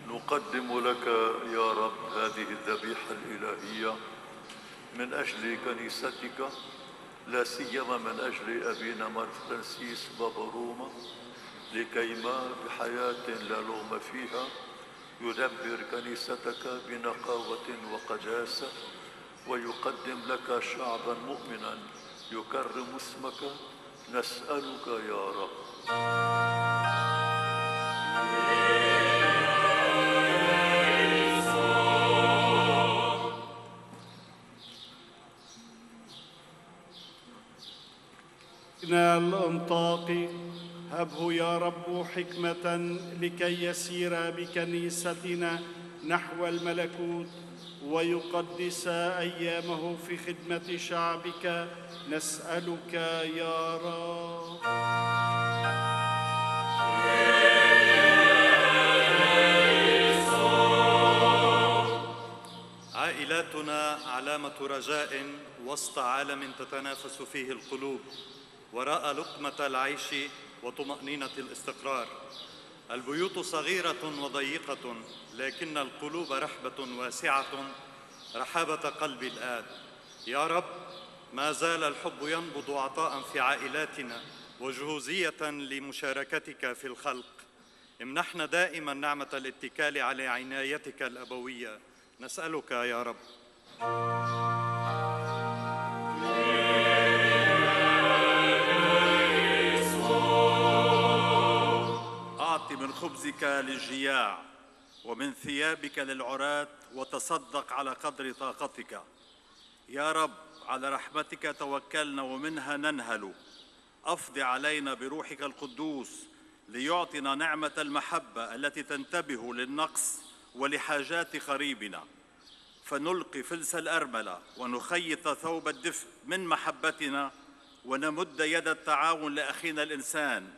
نقدم لك يا رب هذه الذبيحة الإلهية من أجل كنيستك، لا سيما من أجل أبينا مار فرانسيس بابا روما، لكيما بحياة لا لوم فيها يدبر كنيستك بنقاوة وقداسة، ويقدم لك شعبا مؤمنا يكرم اسمك. نسألك يا رب. الأنطاقي هبه يا رب حكمة لكي يسير بكنيستنا نحو الملكوت ويقدس أيامه في خدمة شعبك. نسألك يا رب. عائلاتنا علامة رجاء وسط عالم تتنافس فيه القلوب وراء لقمة العيش وطمأنينة الاستقرار. البيوت صغيرة وضيقة، لكن القلوب رحبة واسعة، رحابة قلب الآب. يا رب، ما زال الحب ينبض عطاء في عائلاتنا وجهوزية لمشاركتك في الخلق. امنحنا دائما نعمة الاتكال على عنايتك الأبوية. نسألك يا رب. أعط من خبزك للجياع ومن ثيابك للعراة، وتصدق على قدر طاقتك. يا رب، على رحمتك توكلنا ومنها ننهل. أفض علينا بروحك القدوس ليعطنا نعمة المحبة التي تنتبه للنقص ولحاجات قريبنا، فنلقي فلس الأرملة ونخيط ثوب الدفء من محبتنا، ونمد يد التعاون لأخينا الإنسان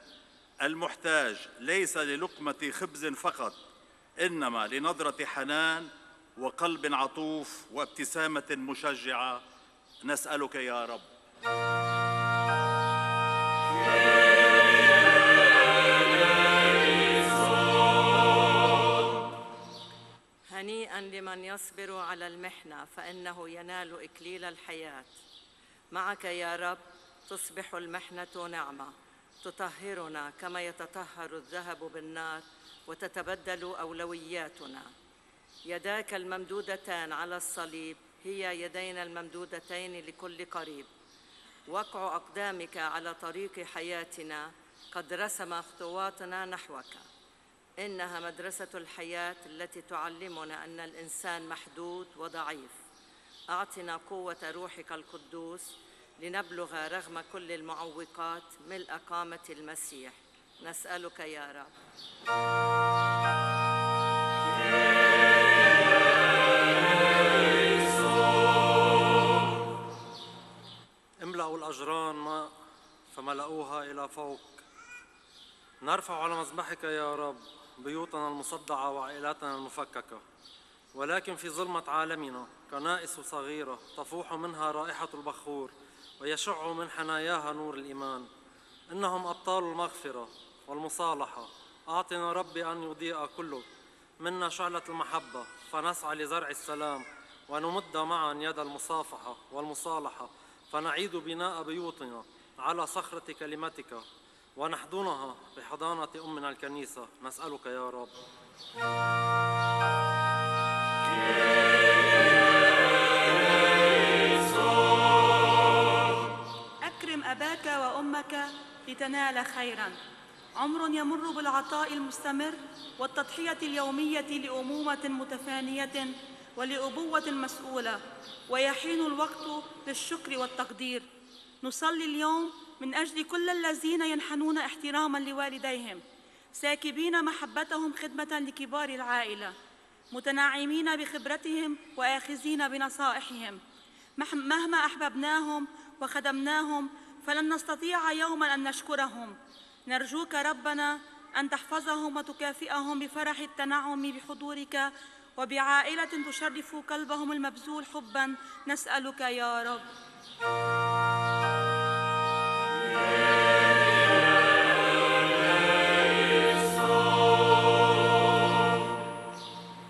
المحتاج، ليس للقمة خبز فقط، إنما لنظرة حنان وقلب عطوف وابتسامة مشجعة. نسألك يا رب. هنيئا لمن يصبر على المحنة، فإنه ينال إكليل الحياة. معك يا رب تصبح المحنة نعمة تطهرنا كما يتطهر الذهب بالنار، وتتبدل أولوياتنا. يداك الممدودتان على الصليب هي يدينا الممدودتين لكل قريب. وقع أقدامك على طريق حياتنا قد رسم خطواتنا نحوك. إنها مدرسة الحياة التي تعلمنا أن الإنسان محدود وضعيف. أعطنا قوة روحك القدوس لنبلغ رغم كل المعوقات ملء قامة المسيح. نسألك يا رب. املأوا الأجران ماء فملأوها إلى فوق. نرفع على مذبحك يا رب بيوتنا المصدعة وعائلاتنا المفككة، ولكن في ظلمة عالمنا كنائس صغيرة تفوح منها رائحة البخور ويشع من حناياها نور الإيمان. إنهم أبطال المغفرة والمصالحة. أعطنا ربي أن يضيء كل منا شعلة المحبة، فنسعى لزرع السلام ونمد معا يد المصافحة والمصالحة، فنعيد بناء بيوتنا على صخرة كلمتك ونحضنها بحضانة أمنا الكنيسة. نسألك يا رب. أكرم أباك وأمك لتنال خيراً. عمر يمر بالعطاء المستمر والتضحية اليومية لأمومة متفانية ولأبوة مسؤولة، ويحين الوقت للشكر والتقدير. نصلي اليوم من أجل كل الذين ينحنون احتراما لوالديهم، ساكبين محبتهم خدمة لكبار العائلة. متنعمين بخبرتهم وآخذين بنصائحهم. مهما أحببناهم وخدمناهم فلن نستطيع يوما أن نشكرهم. نرجوك ربنا أن تحفظهم وتكافئهم بفرح التنعم بحضورك وبعائلة تشرف قلبهم المبذول حبا. نسألك يا رب.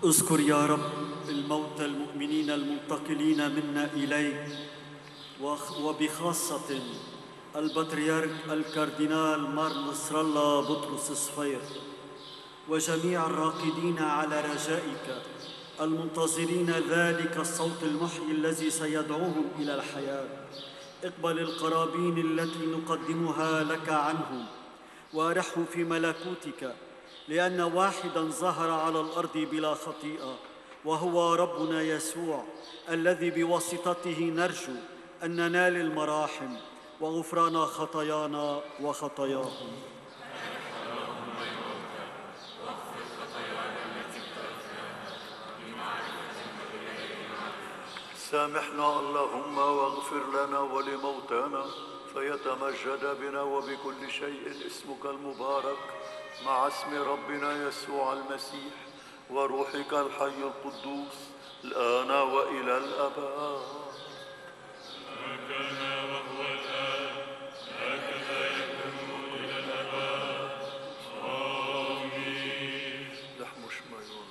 اذكر يا رب الموتى المؤمنين المنتقلين منا إليك، وبخاصة البطريرك الكاردينال مار نصر الله بطرس صفير، وجميع الراقدين على رجائك المنتظرين ذلك الصوت المحيي الذي سيدعوهم إلى الحياة. اقبل القرابين التي نقدمها لك عنهم وارحهم في ملكوتك، لأن واحداً ظهر على الأرض بلا خطيئة، وهو ربنا يسوع الذي بواسطته نرجو أن ننال المراحم وغفران خطايانا وخطاياهم. سامحنا اللهم واغفر لنا ولموتانا، فيتمجد بنا وبكل شيء اسمك المبارك مع اسم ربنا يسوع المسيح وروحك الحي القدوس الآن وإلى الأبد. هكذا وهو الآن هكذا يكون إلى الأبد. آمين. لحم شميون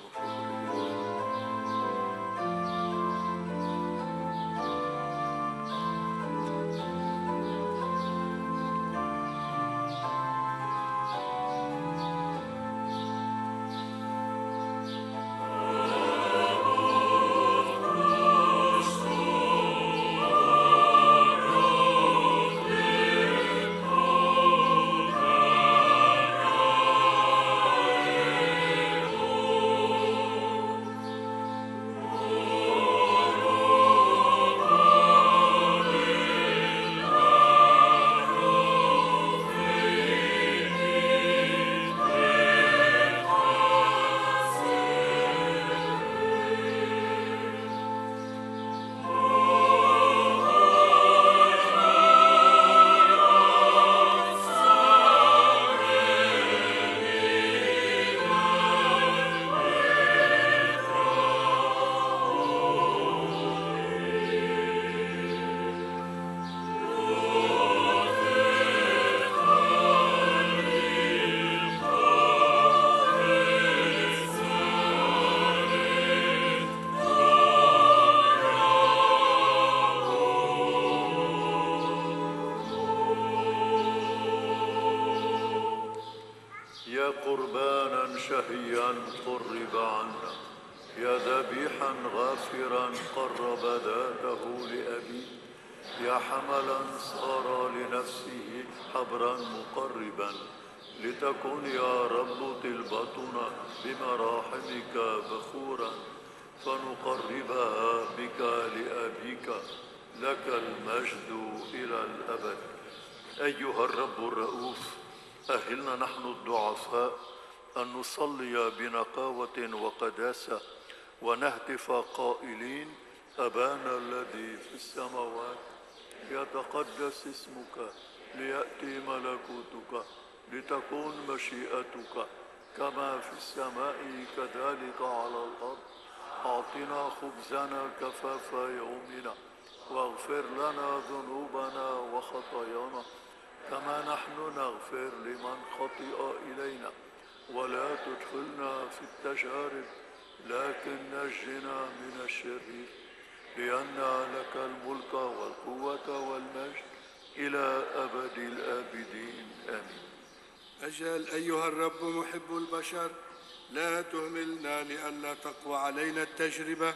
قربانا شهيا قرب عنا، يا ذبيحا غافرا قرب ذاته لأبيه، يا حملا صار لنفسه حبرا مقربا، لتكن يا رب طلبتنا بمراحمك بخورا، فنقربها بك لأبيك، لك المجد إلى الأبد. أيها الرب الرؤوف، أهلنا نحن الضعفاء أن نصلي بنقاوة وقداسة ونهتف قائلين: أبانا الذي في السماوات، يتقدس اسمك، ليأتي ملكوتك، لتكون مشيئتك كما في السماء كذلك على الأرض. أعطنا خبزنا كفاف يومنا، واغفر لنا ذنوبنا وخطايانا كما نحن نغفر لمن خطئ إلينا، ولا تدخلنا في التجارب لكن نجنا من الشرير، لأن لك الملك والقوة والمجد إلى أبد الآبدين. آمين. أجل أيها الرب محب البشر، لا تهملنا لئلا تقوى علينا التجربة،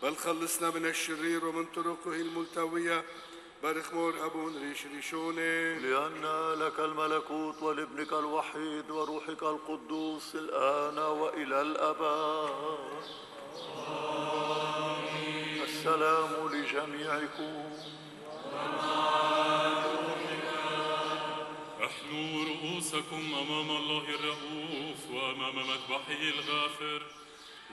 بل خلصنا من الشرير ومن طرقه الملتوية. بارك مور أبون ريش ريشوني، لأن لك الملكوت ولابنك الوحيد وروحك القدوس الآن وإلى الأبد. آمين. السلام لجميعكم. احنوا رؤوسكم أمام الله الرؤوف وأمام مذبحه الغافر،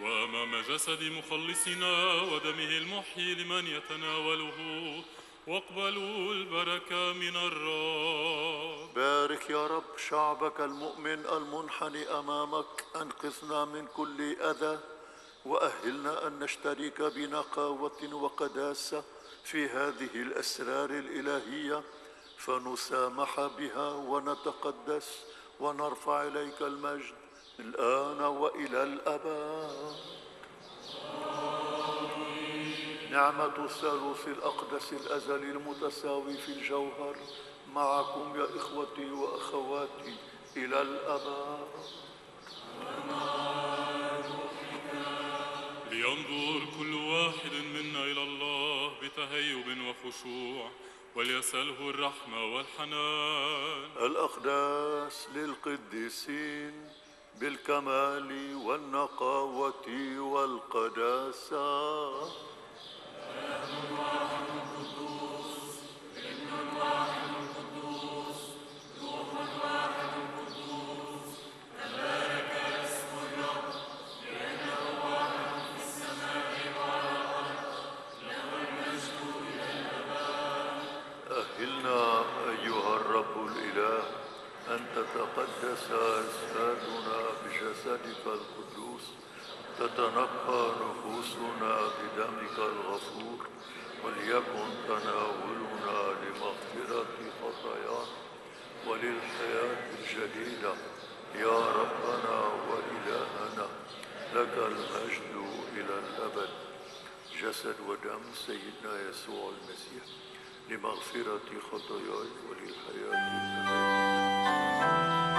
وأمام جسد مخلصنا ودمه المحيي لمن يتناوله، واقبلوا البركة من الرب. بارك يا رب شعبك المؤمن المنحني أمامك، أنقذنا من كل أذى، وأهلنا أن نشترك بنقاوة وقداسة في هذه الأسرار الإلهية، فنسامح بها ونتقدس ونرفع إليك المجد الآن وإلى الأبد. نعمة الثالوث الأقدس الأزلي المتساوي في الجوهر معكم يا إخوتي وأخواتي إلى الأبد. لينظر كل واحد منا إلى الله بتهيب وخشوع، وليسأله الرحمة والحنان. الأقداس للقديسين بالكمال والنقاوة والقداسة. أهلنا أيها الرب الإله أن تتقدس أجسادنا بجسدك القدوس، تتنقى نفوسنا بدمك الغفور، وليكن تناولنا لمغفرة خطايانا وللحياة الجديدة يا ربنا وإلهنا، لك المجد إلى الأبد. جسد ودم سيدنا يسوع المسيح لمغفرة خطاياي وللحياة الأبدية. Amen.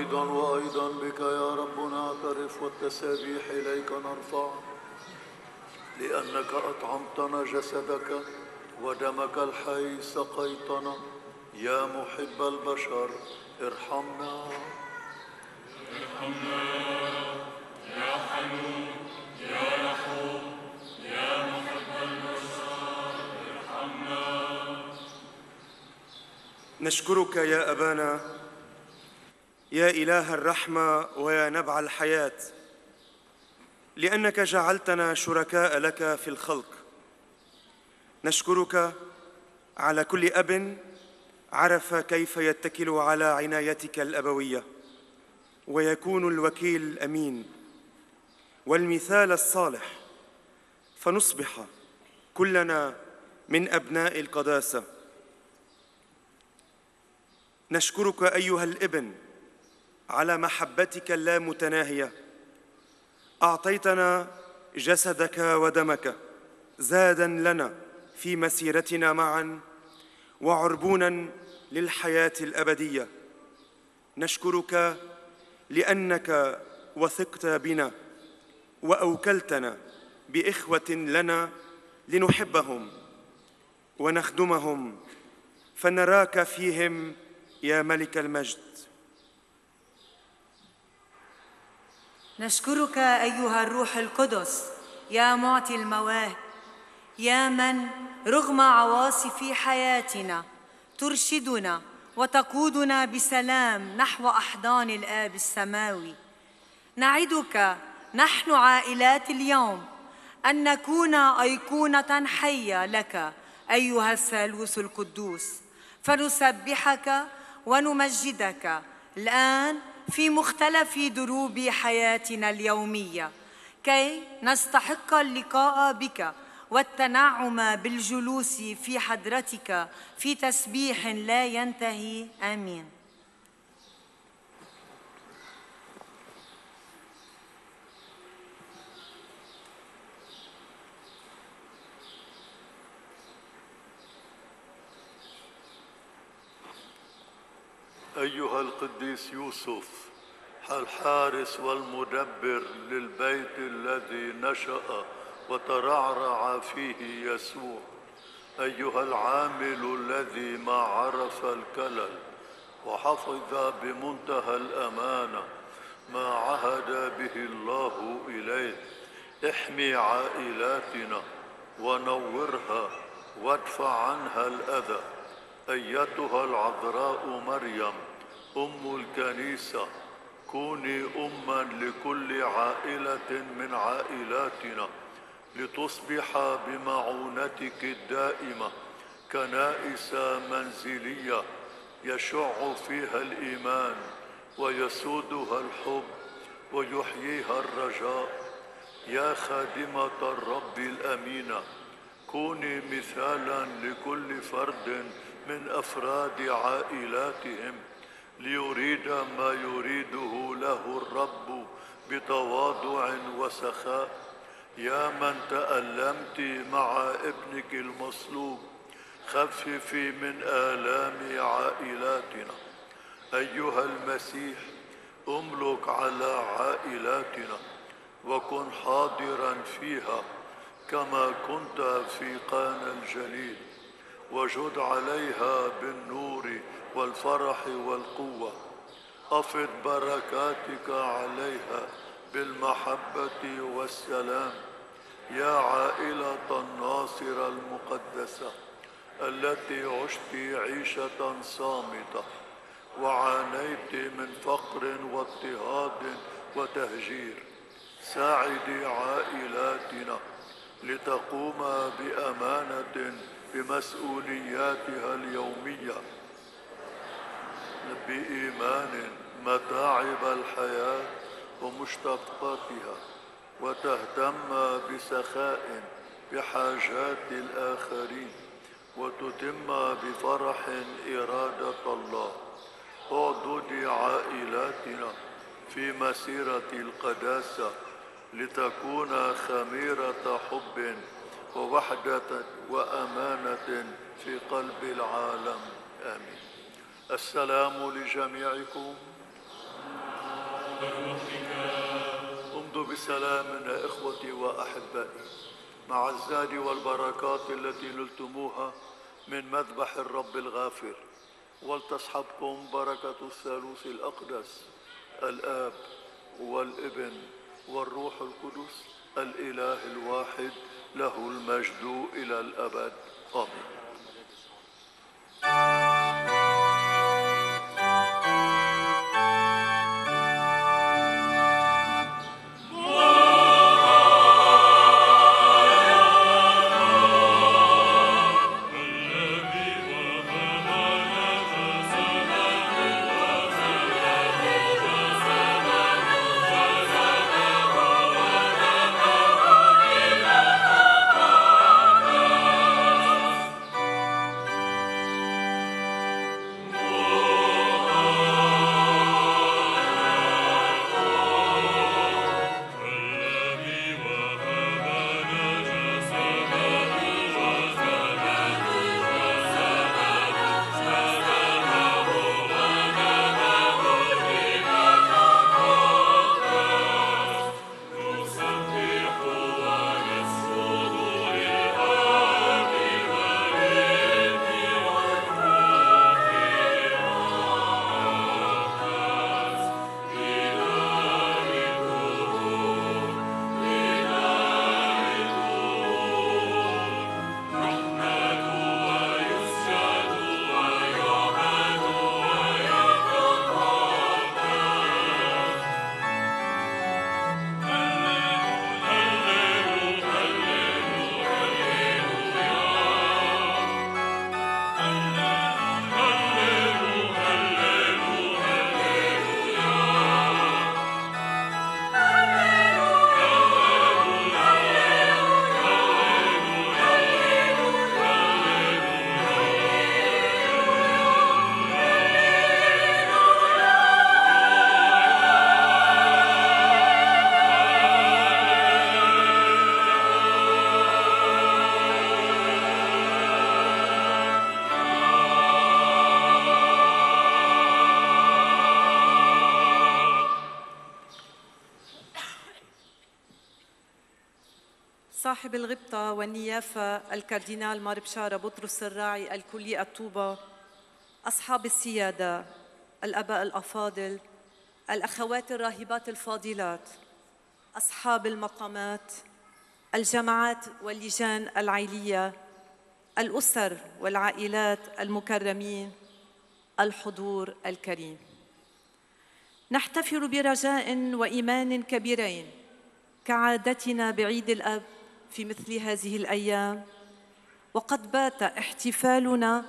أيضا وأيضا بك يا رب نعترف والتسابيح إليك نرفع، لأنك أطعمتنا جسدك ودمك الحي سقيتنا. يا محب البشر ارحمنا. ارحمنا يا حنون يا رحوم يا محب البشر ارحمنا. نشكرك يا أبانا يا إله الرحمة ويا نبع الحياة، لأنك جعلتنا شركاء لك في الخلق. نشكرك على كل أب عرف كيف يتكل على عنايتك الأبوية ويكون الوكيل الأمين والمثال الصالح، فنصبح كلنا من أبناء القداسة. نشكرك أيها الابن على محبتك اللامتناهية. أعطيتنا جسدك ودمك زادا لنا في مسيرتنا معا وعربونا للحياة الأبدية. نشكرك لأنك وثقت بنا وأوكلتنا بإخوة لنا لنحبهم ونخدمهم، فنراك فيهم يا ملك المجد. نشكرك أيها الروح القدس يا معطي المواهب، يا من رغم عواصف حياتنا ترشدنا وتقودنا بسلام نحو أحضان الآب السماوي. نعدك نحن عائلات اليوم أن نكون أيقونة حية لك أيها الثالوث القدوس، فنسبحك ونمجدك الآن في مختلف دروب حياتنا اليومية، كي نستحق اللقاء بك والتنعم بالجلوس في حضرتك في تسبيح لا ينتهي. آمين. أيها القديس يوسف الحارس والمدبر للبيت الذي نشأ وترعرع فيه يسوع، أيها العامل الذي ما عرف الكلل وحفظ بمنتهى الأمانة ما عهد به الله إليه، احمي عائلاتنا ونورها وادفع عنها الأذى. أيتها العذراء مريم أم الكنيسة، كوني أماً لكل عائلة من عائلاتنا، لتصبح بمعونتك الدائمة كنائس منزلية يشع فيها الإيمان ويسودها الحب ويحييها الرجاء. يا خادمة الرب الأمينة، كوني مثالاً لكل فرد من أفراد عائلاتهم ليريد ما يريده له الرب بتواضع وسخاء. يا من تألمت مع ابنك المصلوب، خففي من آلام عائلاتنا. أيها المسيح، أملك على عائلاتنا وكن حاضرا فيها كما كنت في قانا الجليل، وجد عليها بالنور والفرح والقوة. أفض بركاتك عليها بالمحبة والسلام. يا عائلة الناصر المقدسة التي عشت عيشة صامتة وعانيت من فقر واضطهاد وتهجير، ساعدي عائلاتنا لتقوم بأمانة بمسؤولياتها اليومية بإيمان متاعب الحياة ومشتقاتها، وتهتم بسخاء بحاجات الآخرين، وتتم بفرح إرادة الله. اعضدي عائلاتنا في مسيرة القداسة لتكون خميرة حب ووحدة وأمانة في قلب العالم. آمين. السلام لجميعكم. امضوا بسلام يا إخوتي وأحبائي مع الزاد والبركات التي نلتموها من مذبح الرب الغافر، ولتصحبكم بركة الثالوث الأقدس الآب والابن والروح القدس الإله الواحد له المجد إلى الأبد آمين. صاحب الغبطة والنيافة الكاردينال مار بشارة بطرس الراعي الكلي الطوبة، أصحاب السيادة، الآباء الأفاضل، الأخوات الراهبات الفاضلات، أصحاب المقامات، الجماعات واللجان العائلية، الأسر والعائلات المكرمين، الحضور الكريم، نحتفل برجاء وإيمان كبيرين كعادتنا بعيد الأب في مثل هذه الأيام، وقد بات احتفالنا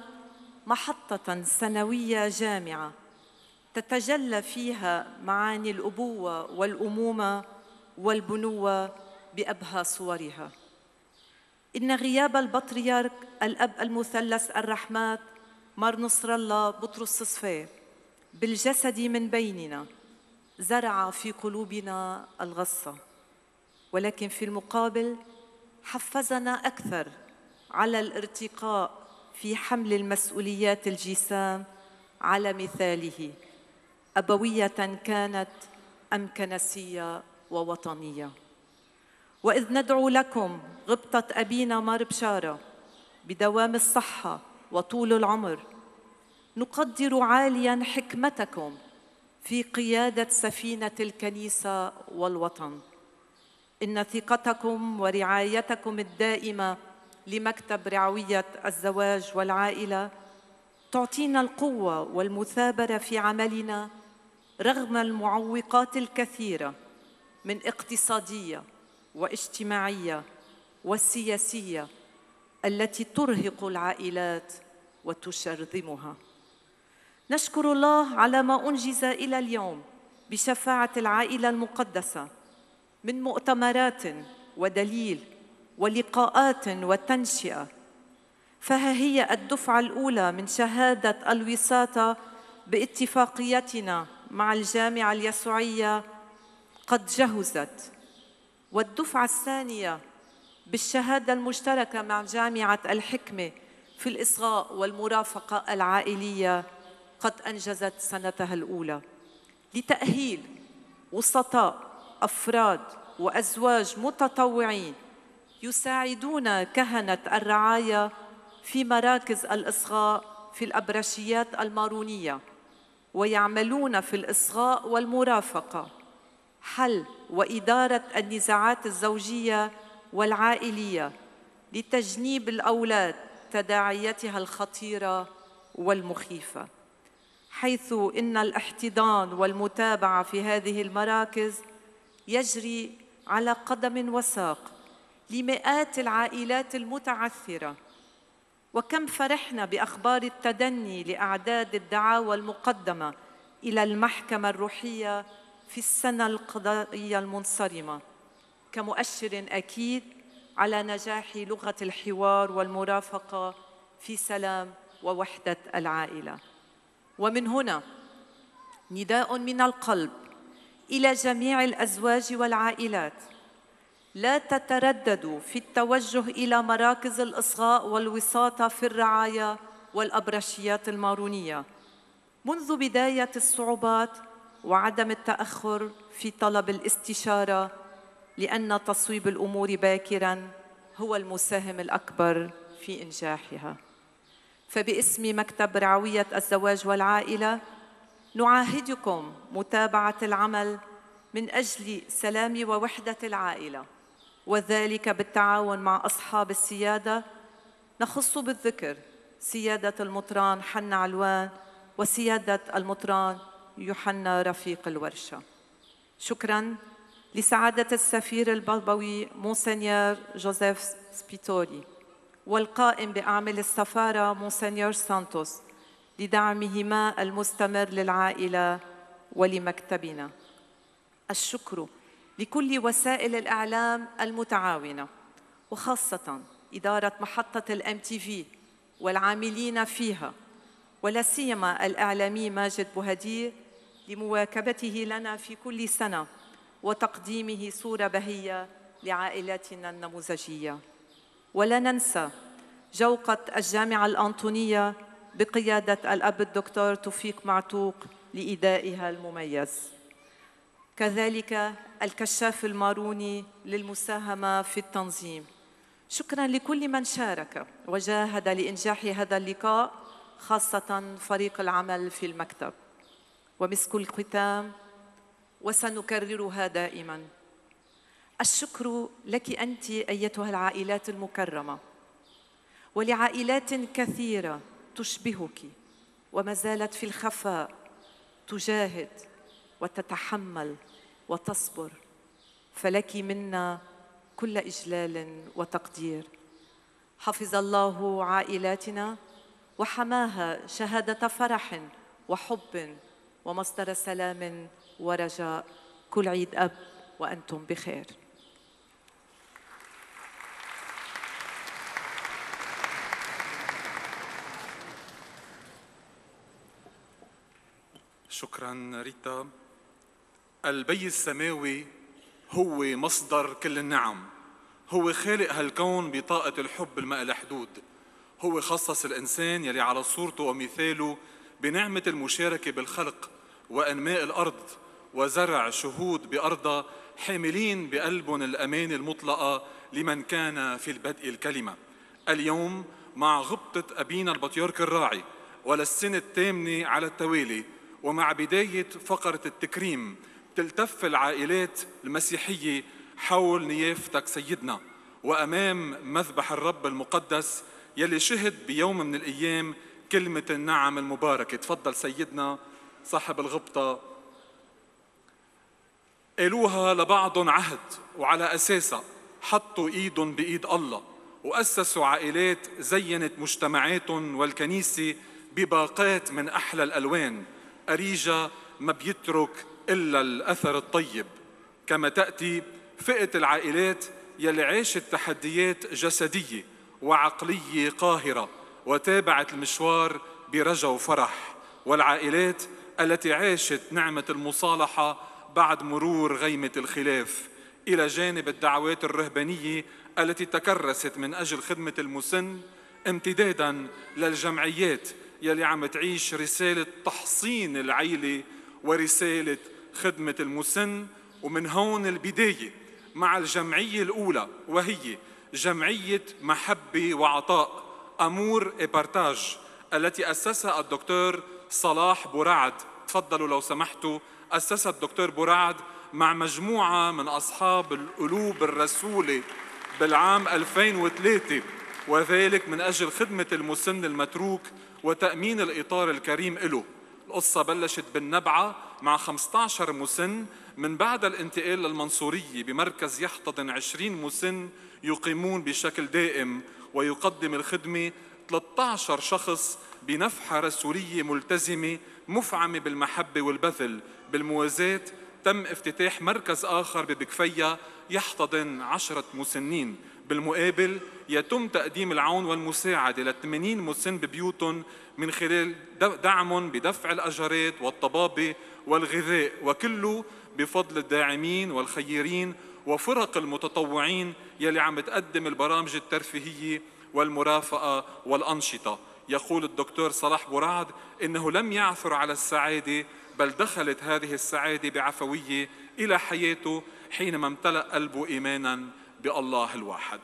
محطة سنوية جامعة تتجلى فيها معاني الأبوة والأمومة والبنوة بأبهى صورها. إن غياب البطريرك الأب المثلث الرحمات مار نصر الله بطرس صفير بالجسد من بيننا زرع في قلوبنا الغصة، ولكن في المقابل حفزنا أكثر على الارتقاء في حمل المسؤوليات الجسام على مثاله، أبوية كانت أم كنسية ووطنية. وإذ ندعو لكم غبطة أبينا مار بشارة بدوام الصحة وطول العمر، نقدر عالياً حكمتكم في قيادة سفينة الكنيسة والوطن. إن ثقتكم ورعايتكم الدائمة لمكتب رعوية الزواج والعائلة تعطينا القوة والمثابرة في عملنا رغم المعوقات الكثيرة من اقتصادية واجتماعية والسياسية التي ترهق العائلات وتشرذمها. نشكر الله على ما أنجز إلى اليوم بشفاعة العائلة المقدسة من مؤتمرات ودليل ولقاءات وتنشئة، فها هي الدفعة الأولى من شهادة الوساطة باتفاقيتنا مع الجامعة اليسوعية قد جهزت، والدفعة الثانية بالشهادة المشتركة مع جامعة الحكمة في الإصغاء والمرافقة العائلية قد أنجزت سنتها الأولى، لتأهيل وسطاء أفراد وأزواج متطوعين يساعدون كهنة الرعاية في مراكز الإصغاء في الأبرشيات المارونية، ويعملون في الإصغاء والمرافقة، حل وإدارة النزاعات الزوجية والعائلية لتجنيب الأولاد تداعياتها الخطيرة والمخيفة، حيث إن الاحتضان والمتابعة في هذه المراكز يجري على قدم وساق لمئات العائلات المتعثرة. وكم فرحنا بأخبار التدني لأعداد الدعاوى المقدمة إلى المحكمة الروحية في السنة القضائية المنصرمة، كمؤشر أكيد على نجاح لغة الحوار والمرافقة في سلام ووحدة العائلة. ومن هنا نداء من القلب إلى جميع الأزواج والعائلات: لا تترددوا في التوجه إلى مراكز الإصغاء والوساطة في الرعاية والأبرشيات المارونية منذ بداية الصعوبات، وعدم التأخر في طلب الاستشارة، لأن تصويب الأمور باكراً هو المساهم الأكبر في إنجاحها. فباسم مكتب رعوية الزواج والعائلة نعاهدكم متابعة العمل من أجل سلام ووحدة العائلة، وذلك بالتعاون مع أصحاب السيادة، نخص بالذكر سيادة المطران حنا علوان وسيادة المطران يوحنا رفيق الورشة. شكراً لسعادة السفير البابوي مونسنيور جوزيف سبيتوري والقائم بأعمال السفارة مونسنيور سانتوس لدعمهما المستمر للعائلة ولمكتبنا. الشكر لكل وسائل الإعلام المتعاونة، وخاصة إدارة محطة الام تي في والعاملين فيها، ولا سيما الإعلامي ماجد بوهدير لمواكبته لنا في كل سنة وتقديمه صورة بهية لعائلاتنا النموذجية. ولا ننسى جوقة الجامعة الأنطونية بقيادة الأب الدكتور توفيق معتوق لإدائها المميز، كذلك الكشاف الماروني للمساهمة في التنظيم. شكراً لكل من شارك وجاهد لإنجاح هذا اللقاء، خاصة فريق العمل في المكتب. ومسك الختام وسنكررها دائماً: الشكر لك أنت أيتها العائلات المكرمة، ولعائلات كثيرة تشبهك وما زالت في الخفاء تجاهد وتتحمل وتصبر، فلك منا كل إجلال وتقدير. حفظ الله عائلاتنا وحماها شهادة فرح وحب ومصدر سلام ورجاء. كل عيد أب وأنتم بخير. شكراً ريتا. البي السماوي هو مصدر كل النعم، هو خالق هالكون بطاقة الحب الما لها حدود. هو خصص الإنسان يلي على صورته ومثاله بنعمة المشاركة بالخلق وأنماء الأرض وزرع شهود بأرضها حاملين بقلبهم الأمان المطلقة لمن كان في البدء الكلمة. اليوم مع غبطة أبينا البطيرك الراعي وللسنة الثامنة على التوالي، ومع بداية فقرة التكريم، تلتف العائلات المسيحية حول نيافتك سيدنا وأمام مذبح الرب المقدس يلي شهد بيوم من الأيام كلمة النعم المباركة. تفضل سيدنا صاحب الغبطة. قالوها لبعضهم عهد، وعلى أساسها حطوا إيدهم بإيد الله وأسسوا عائلات زينت مجتمعاتهم والكنيسة بباقات من أحلى الألوان. أريجا ما بيترك إلا الأثر الطيب. كما تأتي فئة العائلات يلي عاشت تحديات جسدية وعقلية قاهرة وتابعت المشوار برجا وفرح، والعائلات التي عاشت نعمة المصالحة بعد مرور غيمة الخلاف، إلى جانب الدعوات الرهبانية التي تكرست من أجل خدمة المسن، امتدادا للجمعيات يلي عم تعيش رسالة تحصين العيلة ورسالة خدمة المسن، ومن هون البداية مع الجمعية الأولى وهي جمعية محبة وعطاء أمور إبارتاج التي أسسها الدكتور صلاح بورعد. تفضلوا لو سمحتوا. أسسها الدكتور بورعد مع مجموعة من أصحاب القلوب الرسولة بالعام ألفين وثلاثة، وذلك من أجل خدمة المسن المتروك وتأمين الإطار الكريم له. القصة بلشت بالنبعة مع خمسة عشر مسن، من بعد الانتقال للمنصورية بمركز يحتضن عشرين مسن يقيمون بشكل دائم، ويقدم الخدمة ثلاثة عشر شخص بنفحة رسولية ملتزمة مفعمة بالمحبة والبذل. بالموازاة تم افتتاح مركز آخر ببكفية يحتضن عشرة مسنين. بالمقابل يتم تقديم العون والمساعدة ل ثمانين مسن ببيوتهم من خلال دعم بدفع الأجرات والطبابة والغذاء، وكله بفضل الداعمين والخيرين وفرق المتطوعين يلي عم تقدم البرامج الترفيهية والمرافقة والأنشطة. يقول الدكتور صلاح بورعد إنه لم يعثر على السعادة، بل دخلت هذه السعادة بعفوية إلى حياته حينما امتلأ قلبه إيمانا بالله الواحد.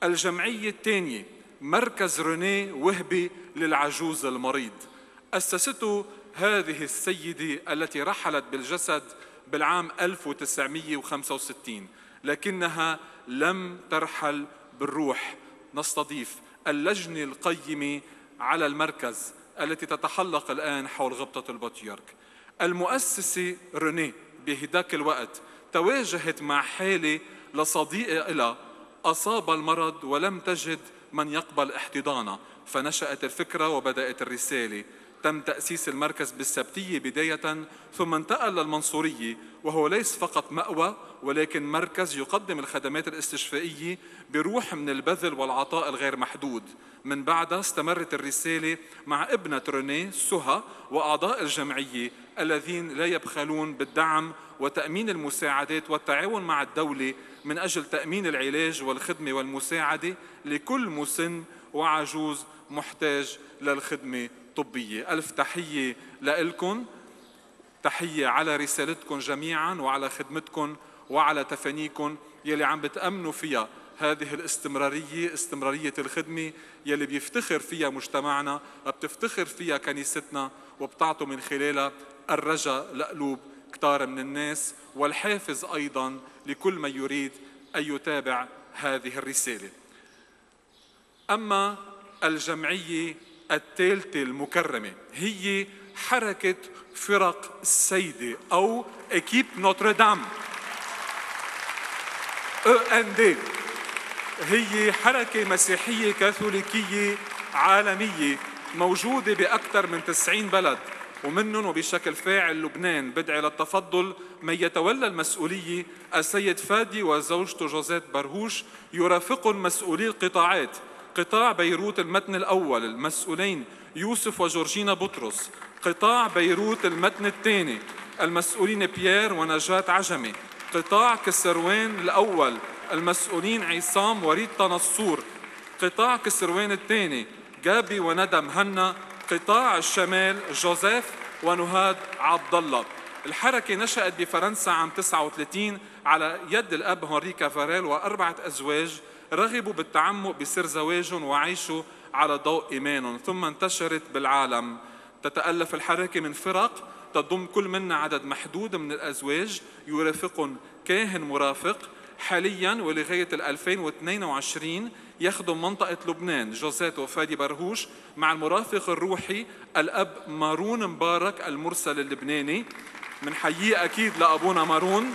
الجمعية الثانية مركز روني وهبي للعجوز المريض، أسسته هذه السيدة التي رحلت بالجسد بالعام ألف وتسعمئة وخمسة وستين، لكنها لم ترحل بالروح. نستضيف اللجنة القيمة على المركز التي تتحلق الآن حول غبطة البطيرك. المؤسسة روني بهداك الوقت تواجهت مع حالة لصديقة إلها أصاب المرض ولم تجد من يقبل احتضانها، فنشأت الفكرة وبدأت الرسالة. تم تأسيس المركز بالسبتية بداية، ثم انتقل للمنصورية، وهو ليس فقط مأوى ولكن مركز يقدم الخدمات الاستشفائية بروح من البذل والعطاء الغير محدود. من بعدها استمرت الرسالة مع ابنة روني سهى وأعضاء الجمعية الذين لا يبخلون بالدعم وتأمين المساعدات والتعاون مع الدولة من أجل تأمين العلاج والخدمة والمساعدة لكل مسن وعجوز محتاج للخدمة الطبية. ألف تحية لكم، تحية على رسالتكم جميعا وعلى خدمتكم وعلى تفانيكم يلي عم بتأمنوا فيها هذه الاستمرارية، استمرارية الخدمة يلي بيفتخر فيها مجتمعنا وبتفتخر فيها كنيستنا، وبتعطوا من خلالها الرجاء لقلوب كتار من الناس والحافز أيضا لكل من يريد أن يتابع هذه الرسالة. أما الجمعية الثالثة المكرمة هي حركة فرق السيدة أو إكيب نوتردام أو إن دي. هي حركة مسيحية كاثوليكية عالمية موجودة بأكثر من تسعين بلد، ومنهم وبشكل فاعل لبنان. بدعي للتفضل من يتولى المسؤولية السيد فادي وزوجته جوزيت برهوش، يرافقهم مسؤولي القطاعات: قطاع بيروت المتن الأول المسؤولين يوسف وجورجينا بطرس، قطاع بيروت المتن الثاني المسؤولين بيير ونجاة عجمي، قطاع كسروان الأول المسؤولين عصام وريتا نصور، قطاع كسروان الثاني جابي وندى مهنا، قطاع الشمال جوزيف ونهاد عبد الله. الحركة نشأت بفرنسا عام تسعة وثلاثين على يد الأب هنري كافاريل وأربعة أزواج رغبوا بالتعمق بسر زواجهم وعيشوا على ضوء إيمانهم، ثم انتشرت بالعالم. تتألف الحركة من فرق تضم كل منا عدد محدود من الأزواج يرافقهم كاهن مرافق. حالياً ولغاية ألفين واثنين وعشرين يخدم منطقة لبنان جوزيت وفادي برهوش مع المرافق الروحي الأب مارون مبارك المرسل اللبناني. من حييه أكيد لأبونا مارون.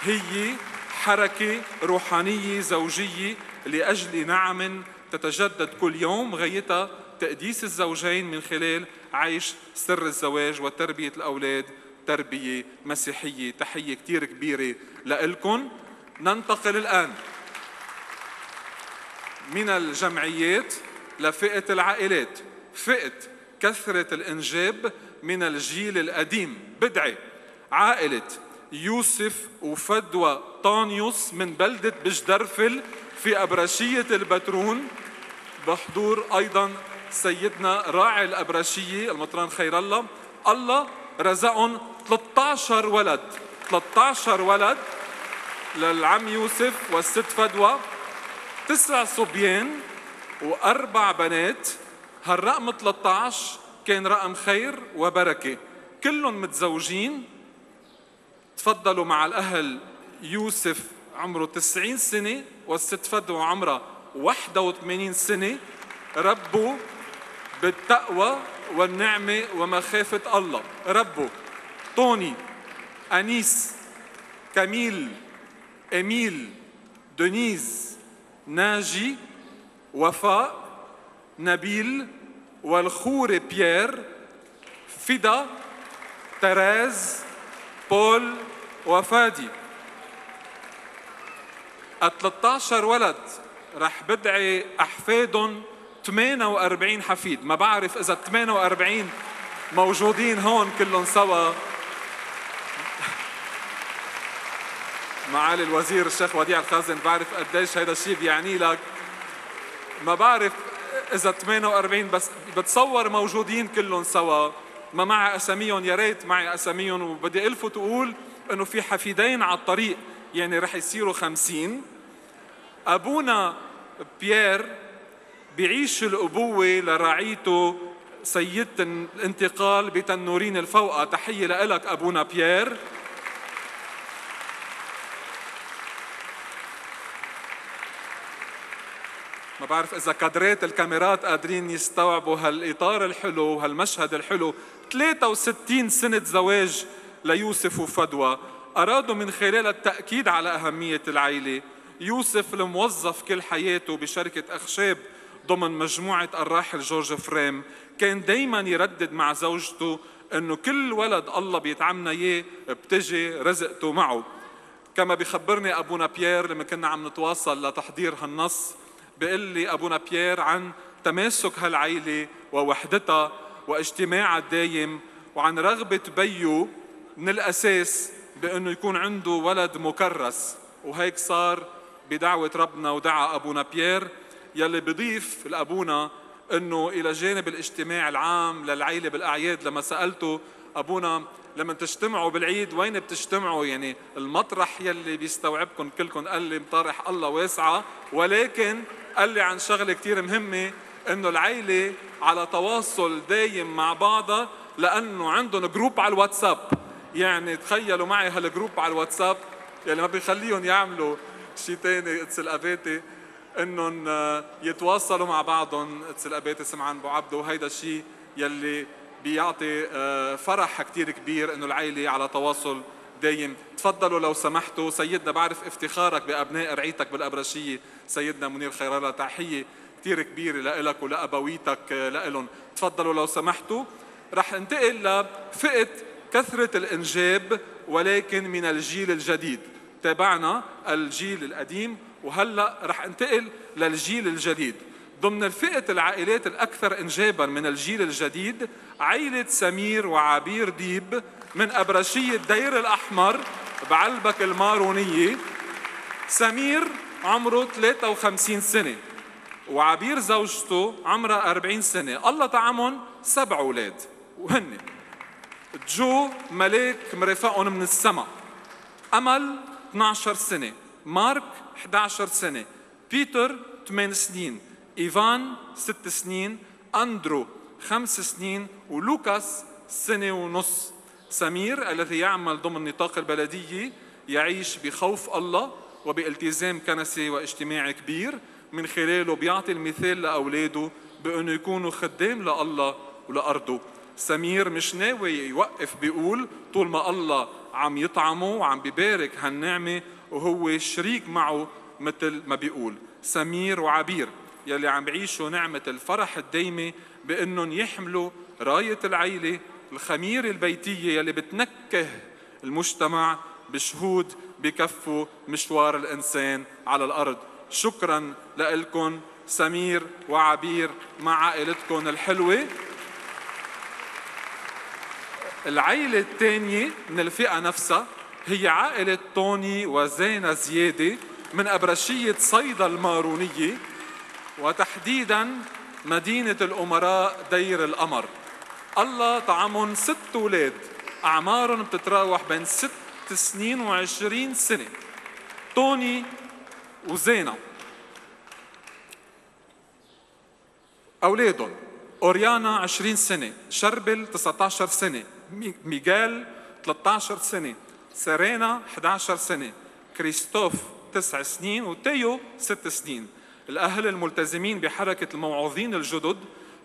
هي حركة روحانية زوجية لأجل نعم تتجدد كل يوم، غايتها تقديس الزوجين من خلال عيش سر الزواج وتربية الأولاد تربية مسيحية. تحية كتير كبيرة لإلكن. ننتقل الآن من الجمعيات لفئة العائلات، فئة كثرة الإنجاب من الجيل القديم. بدعي عائلة يوسف وفدوى طانيوس من بلدة بجدرفل في أبرشية البترون، بحضور أيضا سيدنا راعي الأبرشية المطران خير الله. الله رزقهم ثلاثة عشر ولد، ثلاثة عشر ولد للعم يوسف والست فدوى، تسع صبيان وأربع بنات. هالرقم ثلاثة عشر كان رقم خير وبركة، كلهم متزوجين. تفضلوا مع الأهل. يوسف عمره تسعين سنة والست فدوى عمرها واحد وثمانين سنة، ربوا بالتقوى والنعمة ومخافة الله. ربوا طوني، أنيس، كميل، إميل، دونيز، ناجي، وفاء، نبيل، والخوري بيير، فدا، تراز، بول، وفادي. الثلاثة عشر ولد رح بدعي أحفادهم ثمانية وأربعين حفيد. ما بعرف إذا ثمانية وأربعين موجودين هون كلهم سوا. معالي الوزير الشيخ وديع الخازن، بعرف قديش هيدا الشيء بيعني لك. ما بعرف إذا ثمانية وأربعين، بس بتصور موجودين كلهم سوا. ما معي أساميهم، يا ريت معي أساميهم. وبدي ألفت أقول إنه في حفيدين على الطريق، يعني رح يصيروا خمسين. أبونا بيير بيعيش الأبوة لرعيته سيدة الانتقال بتنورين الفوقة. تحية لك أبونا بيير. ما بعرف إذا كادرات الكاميرات قادرين يستوعبوا هالإطار الحلو وهالمشهد الحلو. ثلاثة وستين سنة زواج ليوسف وفدوى، أرادوا من خلال التأكيد على أهمية العائلة. يوسف الموظف كل حياته بشركة أخشاب ضمن مجموعة الراحل جورج فريم، كان دايما يردد مع زوجته أنه كل ولد الله بيتعمنا إياه بتجي رزقته معه. كما بيخبرني أبونا بيير لما كنا عم نتواصل لتحضير هالنص، بيقول لي أبونا بيير عن تماسك هالعائلة ووحدتها واجتماعها الدايم، وعن رغبة بيو من الأساس بأنه يكون عنده ولد مكرس. وهيك صار بدعوة ربنا ودعا أبونا بيير، يلي بضيف لأبونا أنه إلى جانب الاجتماع العام للعائلة بالأعياد. لما سألته أبونا لما تجتمعوا بالعيد وين بتجتمعوا، يعني المطرح يلي بيستوعبكم كلكم؟ قال لي مطارح الله واسعة، ولكن قال لي عن شغلة كتير مهمة، أنه العائلة على تواصل دايم مع بعضها لأنه عندهم جروب على الواتساب. يعني تخيلوا معي هالجروب على الواتساب يلي ما بيخليهم يعملوا شيء تاني اتس الأباتي، انهم يتواصلوا مع بعضهم. اتس الأباتي سمعان ابو عبده، وهيدا الشيء يلي بيعطي فرح كتير كبير انه العائلة على تواصل دايم. تفضلوا لو سمحتوا. سيدنا بعرف افتخارك بأبناء رعيتك بالأبرشية، سيدنا منير خير الله، تحية كتير كبيرة لإلك ولأبويتك لإلهم. تفضلوا لو سمحتوا. رح انتقل لفئة كثرة الإنجاب ولكن من الجيل الجديد. تابعنا الجيل القديم وهلأ رح انتقل للجيل الجديد. ضمن الفئة العائلات الأكثر إنجاباً من الجيل الجديد عائلة سمير وعبير ديب من أبرشية دير الأحمر بعلبك المارونية. سمير عمره ثلاثة وخمسين سنة وعبير زوجته عمرها أربعين سنة. الله طعمهم سبع أولاد، وهن جو ملاك مرافقهم من السماء، أمل اثني عشر سنة، مارك إحدى عشرة سنة، بيتر ثمان سنين، إيفان ست سنين، أندرو خمس سنين، ولوكاس سنة ونص. سمير الذي يعمل ضمن نطاق البلدية يعيش بخوف الله وبالتزام كنسي واجتماعي كبير، من خلاله بيعطي المثال لأولاده بأنه يكونوا خدام لله ولأرضه. سمير مش ناوي يوقف، بيقول طول ما الله عم يطعمه وعم بيبارك هالنعمة وهو شريك معه، مثل ما بيقول. سمير وعبير يلي عم بيعيشوا نعمة الفرح الدايمة بأنهم يحملوا راية العيلة الخميرة البيتية يلي بتنكه المجتمع بشهود بكفوا مشوار الإنسان على الأرض. شكراً لكم سمير وعبير مع عائلتكم الحلوة. العائلة الثانية من الفئة نفسها هي عائلة طوني وزينة زيادة من أبرشية صيدا المارونية، وتحديداً مدينة الأمراء دير القمر. الله طعمهم ست أولاد، أعمارهم بتتراوح بين ست سنين وعشرين سنة. توني وزينة أولادهم أوريانا عشرين سنة، شربل تسعة عشر سنة، ميغال ثلاثة عشر سنة، سيرينا إحدى عشرة سنة، كريستوف تسع سنين، وتيو ست سنين. الأهل الملتزمين بحركة الموعوظين الجدد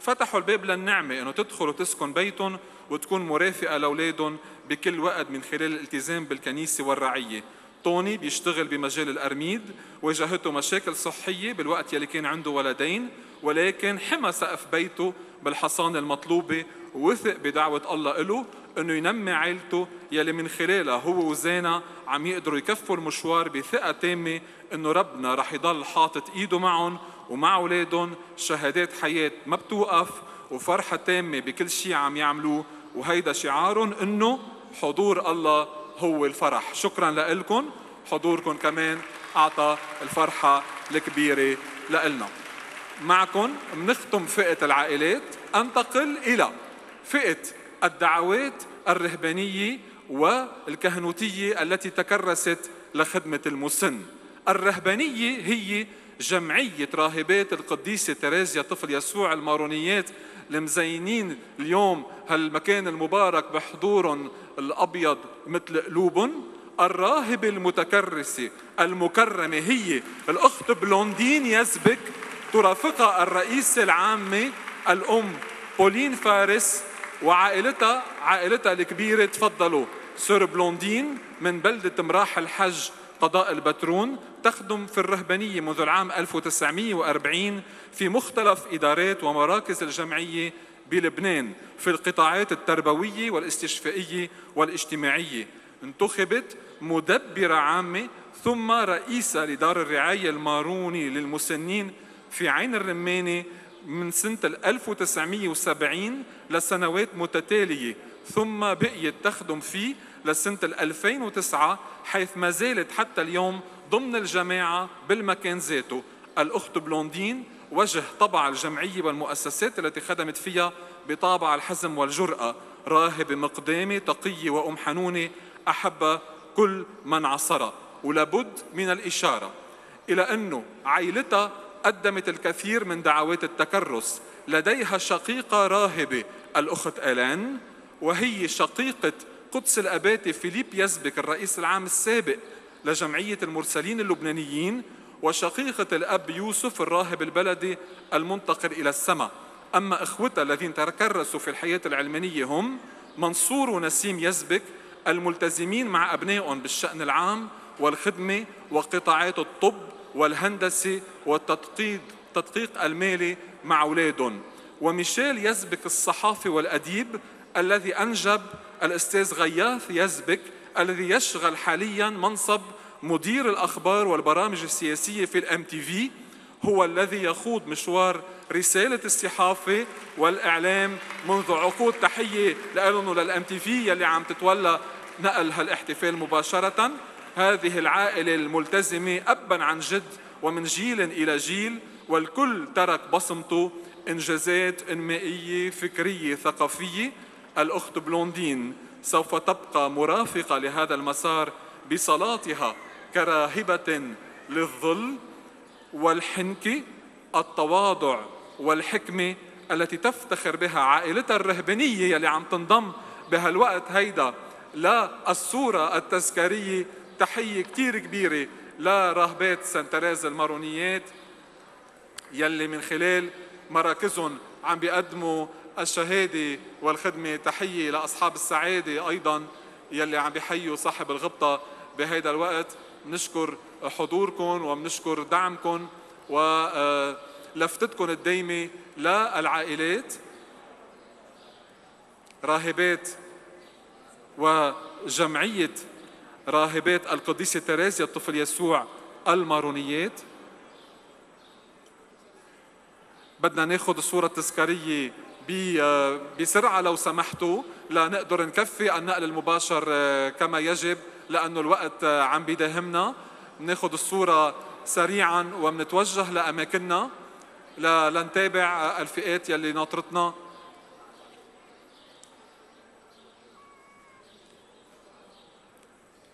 فتحوا الباب للنعمة إنه تدخل وتسكن بيتهم وتكون مرافقة لأولادهم بكل وقت من خلال الالتزام بالكنيسة والرعية. توني بيشتغل بمجال الأرميد، واجهته مشاكل صحية بالوقت يلي كان عنده ولدين، ولكن حمى سقف بيته بالحصانة المطلوبة، ووثق بدعوة الله له انه ينمي عائلته يلي من خلالها هو وزينة عم يقدروا يكفوا المشوار بثقة تامة انه ربنا رح يضل حاطط ايده معهم ومع اولادهم، شهادات حياة ما بتوقف وفرحة تامة بكل شيء عم يعملوه، وهيدا شعارهم انه حضور الله هو الفرح. شكرا لكم، حضوركم كمان اعطى الفرحة الكبيرة لإلنا. معكم منختم فئة العائلات، انتقل إلى فئة الدعوات الرهبانية والكهنوتية التي تكرست لخدمة المسن. الرهبانية هي جمعية راهبات القديسة تريزيا طفل يسوع المارونيات المزينين اليوم هالمكان المبارك بحضورهم الأبيض مثل قلوبهم. الراهبة المتكرسة المكرمة هي الأخت بلوندين يزبك، ترافقها الرئيسة العامة الأم بولين فارس وعائلتها عائلتها الكبيرة. تفضلوا سور بلوندين من بلدة مراح الحج قضاء البترون، تخدم في الرهبانية منذ العام ألف وتسعمئة وأربعين في مختلف إدارات ومراكز الجمعية بلبنان في القطاعات التربوية والاستشفائية والاجتماعية. انتخبت مدبرة عامة ثم رئيسة لدار الرعاية الماروني للمسنين في عين الرمانة من سنة ألف وتسعمئة وسبعين لسنوات متتالية، ثم بقيت تخدم فيه لسنة ألفين وتسعة، حيث ما زالت حتى اليوم ضمن الجماعة بالمكان ذاته. الأخت بلوندين وجه طبع الجمعية والمؤسسات التي خدمت فيها بطابع الحزم والجرأة، راهبة مقدامة تقية وأم حنونة أحب كل من عصرها. ولابد من الإشارة إلى أنه عائلتها قدمت الكثير من دعوات التكرس. لديها شقيقة راهبة الأخت آلان، وهي شقيقة قدس الأباتي فيليب يزبك الرئيس العام السابق لجمعية المرسلين اللبنانيين، وشقيقة الأب يوسف الراهب البلدي المنتقل إلى السماء. أما إخوتها الذين تكرسوا في الحياة العلمانية هم منصور ونسيم يزبك الملتزمين مع أبنائهم بالشأن العام والخدمة وقطاعات الطب والهندسة والتدقيق التدقيق المالي مع أولادهم. وميشيل يزبك الصحافي والأديب الذي أنجب الأستاذ غياث يزبك الذي يشغل حاليا منصب مدير الأخبار والبرامج السياسية في الام تي في، هو الذي يخوض مشوار رسالة الصحافة والإعلام منذ عقود. تحية لهم وللام تي في يلي عم تتولى نقل هالاحتفال مباشرة. هذه العائلة الملتزمة أبا عن جد ومن جيل إلى جيل، والكل ترك بصمته، إنجازات إنمائية فكرية ثقافية. الأخت بلوندين سوف تبقى مرافقة لهذا المسار بصلاتها كراهبة للظل والحنكة، التواضع والحكمة التي تفتخر بها عائلتها الرهبانية يلي عم تنضم بهالوقت هيدا للصورة التذكارية. تحية كتير كبيرة لراهبات سان تريز المارونيات يلي من خلال مراكزهم عم بيقدموا الشهادة والخدمة. تحية لأصحاب السعادة أيضا يلي عم بيحيوا صاحب الغبطة بهيدا الوقت. نشكر حضوركم وبنشكر دعمكم ولفتتكم الدايمة للعائلات راهبات وجمعية راهبات القديسة تريزيا الطفل يسوع المارونيات. بدنا ناخد الصورة التذكارية بسرعة لو سمحتوا لنقدر نكفي النقل المباشر كما يجب، لأنه الوقت عم بيداهمنا. ناخد الصورة سريعا ومنتوجه لأماكننا لنتابع الفئات يلي ناطرتنا.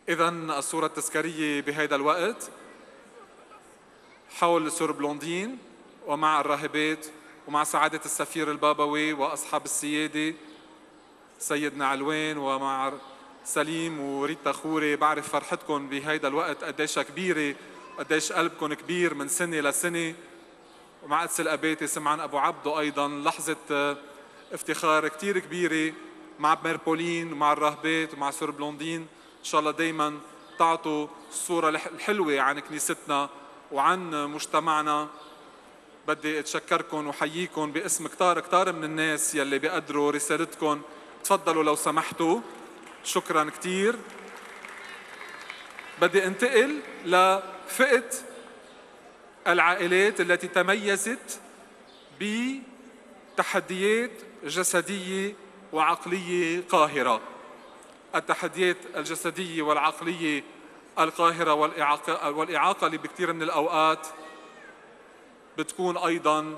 إذن الصورة التذكارية بهذا الوقت حول سور بلوندين ومع الراهبات ومع سعادة السفير البابوي وأصحاب السيادة سيدنا علوان ومع سليم وريتا خوري. بعرف فرحتكم بهيدا الوقت قديش كبيرة وقديش قلبكم كبير من سنة لسنة. ومع قدس الأباتي سمعان أبو عبدو أيضا لحظة افتخار كتير كبيرة مع ميربولين ومع الراهبات ومع سور بلوندين. إن شاء الله دايما تعطوا الصورة الحلوة عن كنيستنا وعن مجتمعنا. بدي اتشكركم وحييكم باسم كتار كتار من الناس يلي بيقدروا رسالتكم. تفضلوا لو سمحتوا. شكرا كتير. بدي انتقل لفئة العائلات التي تميزت بتحديات جسدية وعقلية قاهرة. التحديات الجسدية والعقلية القاهرة والإعاقة, والإعاقة اللي بكثير من الأوقات بتكون أيضاً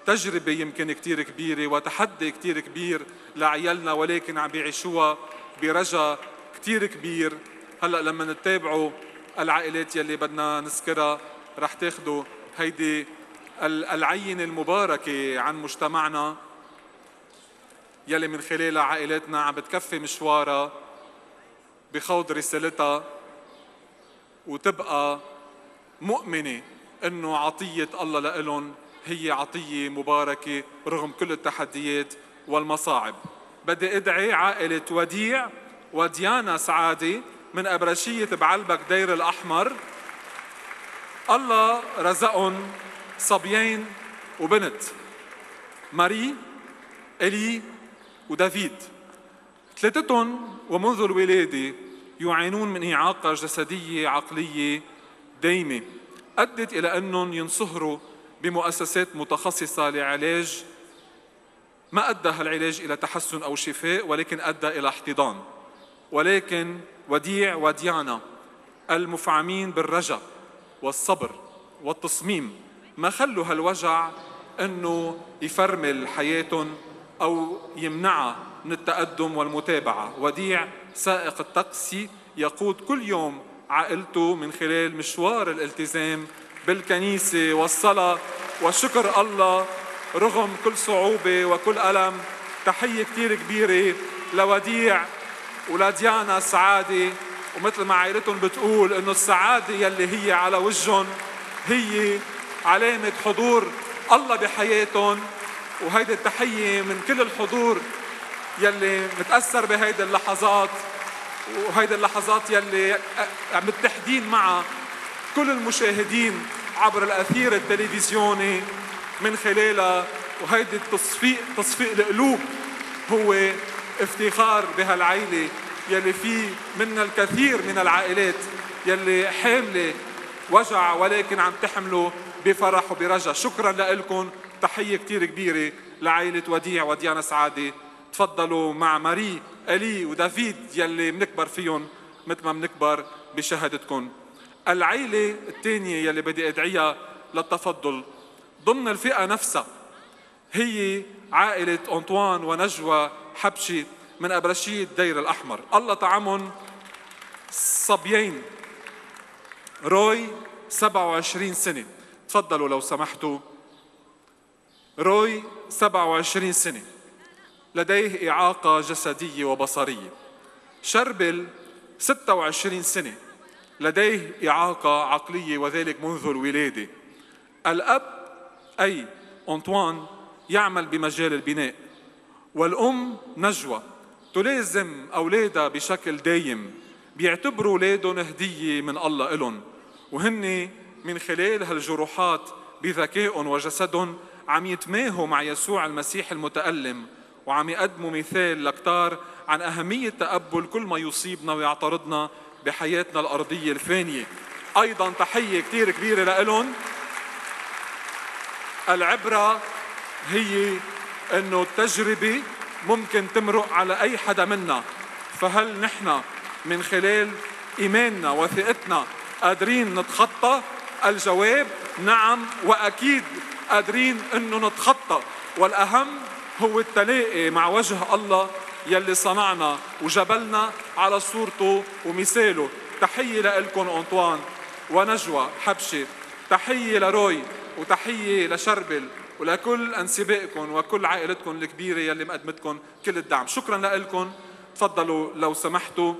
تجربة يمكن كتير كبيرة وتحدي كتير كبير لعيالنا، ولكن عم بيعيشوها برجاء كتير كبير. هلأ لما نتابعوا العائلات يلي بدنا نذكرها رح تاخدوا هيدي العينة المباركة عن مجتمعنا يلي من خلالها عائلاتنا عم بتكفي مشوارها بخوض رسالتها وتبقى مؤمنة إنه عطية الله لإلهم هي عطية مباركة رغم كل التحديات والمصاعب. بدي أدعي عائلة وديع وديانا سعادة من أبرشية بعلبك دير الأحمر. الله رزقهم صبيين وبنت، ماري، إلي ودافيد. ثلاثتهم ومنذ الولادة يعانون من إعاقة جسدية عقلية دايمة أدت إلى أنهم ينصهروا بمؤسسات متخصصة لعلاج. ما أدى هالعلاج إلى تحسن أو شفاء ولكن أدى إلى احتضان. ولكن وديع وديانا المفعمين بالرجاء والصبر والتصميم ما خلوا هالوجع أنه يفرمل حياتهم أو يمنعها من التقدم والمتابعة. وديع سائق التاكسي يقود كل يوم عائلته من خلال مشوار الالتزام بالكنيسة والصلاة وشكر الله رغم كل صعوبة وكل ألم. تحية كتير كبيرة لوديع ولديانا سعادة، ومثل ما عائلتهم بتقول إنه السعادة يلي هي على وجههم هي علامة حضور الله بحياتهم. وهيدي التحية من كل الحضور يلي متأثر بهيدي اللحظات وهيدي اللحظات يلي متحدين مع كل المشاهدين عبر الأثير التلفزيوني من خلالها. وهيدي التصفيق تصفيق القلوب هو افتخار بهالعائلة يلي فيه منا الكثير من العائلات يلي حاملة وجع ولكن عم تحمله بفرح وبرجاء. شكرا لكم. تحية كتير كبيرة لعائلة وديع وديانا سعادة. تفضلوا مع ماري، إلي ودافيد يلي منكبر فيهم مثل ما منكبر بشهادتكم. العائلة الثانية يلي بدي أدعيها للتفضل ضمن الفئة نفسها هي عائلة أنطوان ونجوى حبشي من أبرشية دير الأحمر. الله طعمهم صبيين، روي سبعة وعشرين سنة. تفضلوا لو سمحتوا. روي سبعة وعشرين سنة لديه إعاقة جسدية وبصرية. شربل ستة وعشرين سنة لديه إعاقة عقلية وذلك منذ الولادة. الأب أي أنطوان يعمل بمجال البناء، والأم نجوى تلازم أولادها بشكل دايم، بيعتبروا أولادهم هدية من الله إلهم، وهن من خلال هالجروحات بذكائهم وجسدهم عم يتماهوا مع يسوع المسيح المتألم وعم يقدموا مثال لكتار عن أهمية تقبل كل ما يصيبنا ويعترضنا بحياتنا الأرضية الفانية. أيضا تحية كتير كبيرة لإلهم. العبرة هي أنه التجربة ممكن تمرق على أي حدا منا، فهل نحن من خلال إيماننا وثقتنا قادرين نتخطى؟ الجواب نعم، وأكيد قادرين أنه نتخطى. والأهم هو التلاقي مع وجه الله يلي صنعنا وجبلنا على صورته ومثاله. تحية لإلكم أنطوان ونجوى حبشة، تحية لروي وتحية لشربل ولكل أنسبائكم وكل عائلتكم الكبيرة يلي مقدمتكم كل الدعم. شكرا لإلكم. تفضلوا لو سمحتوا.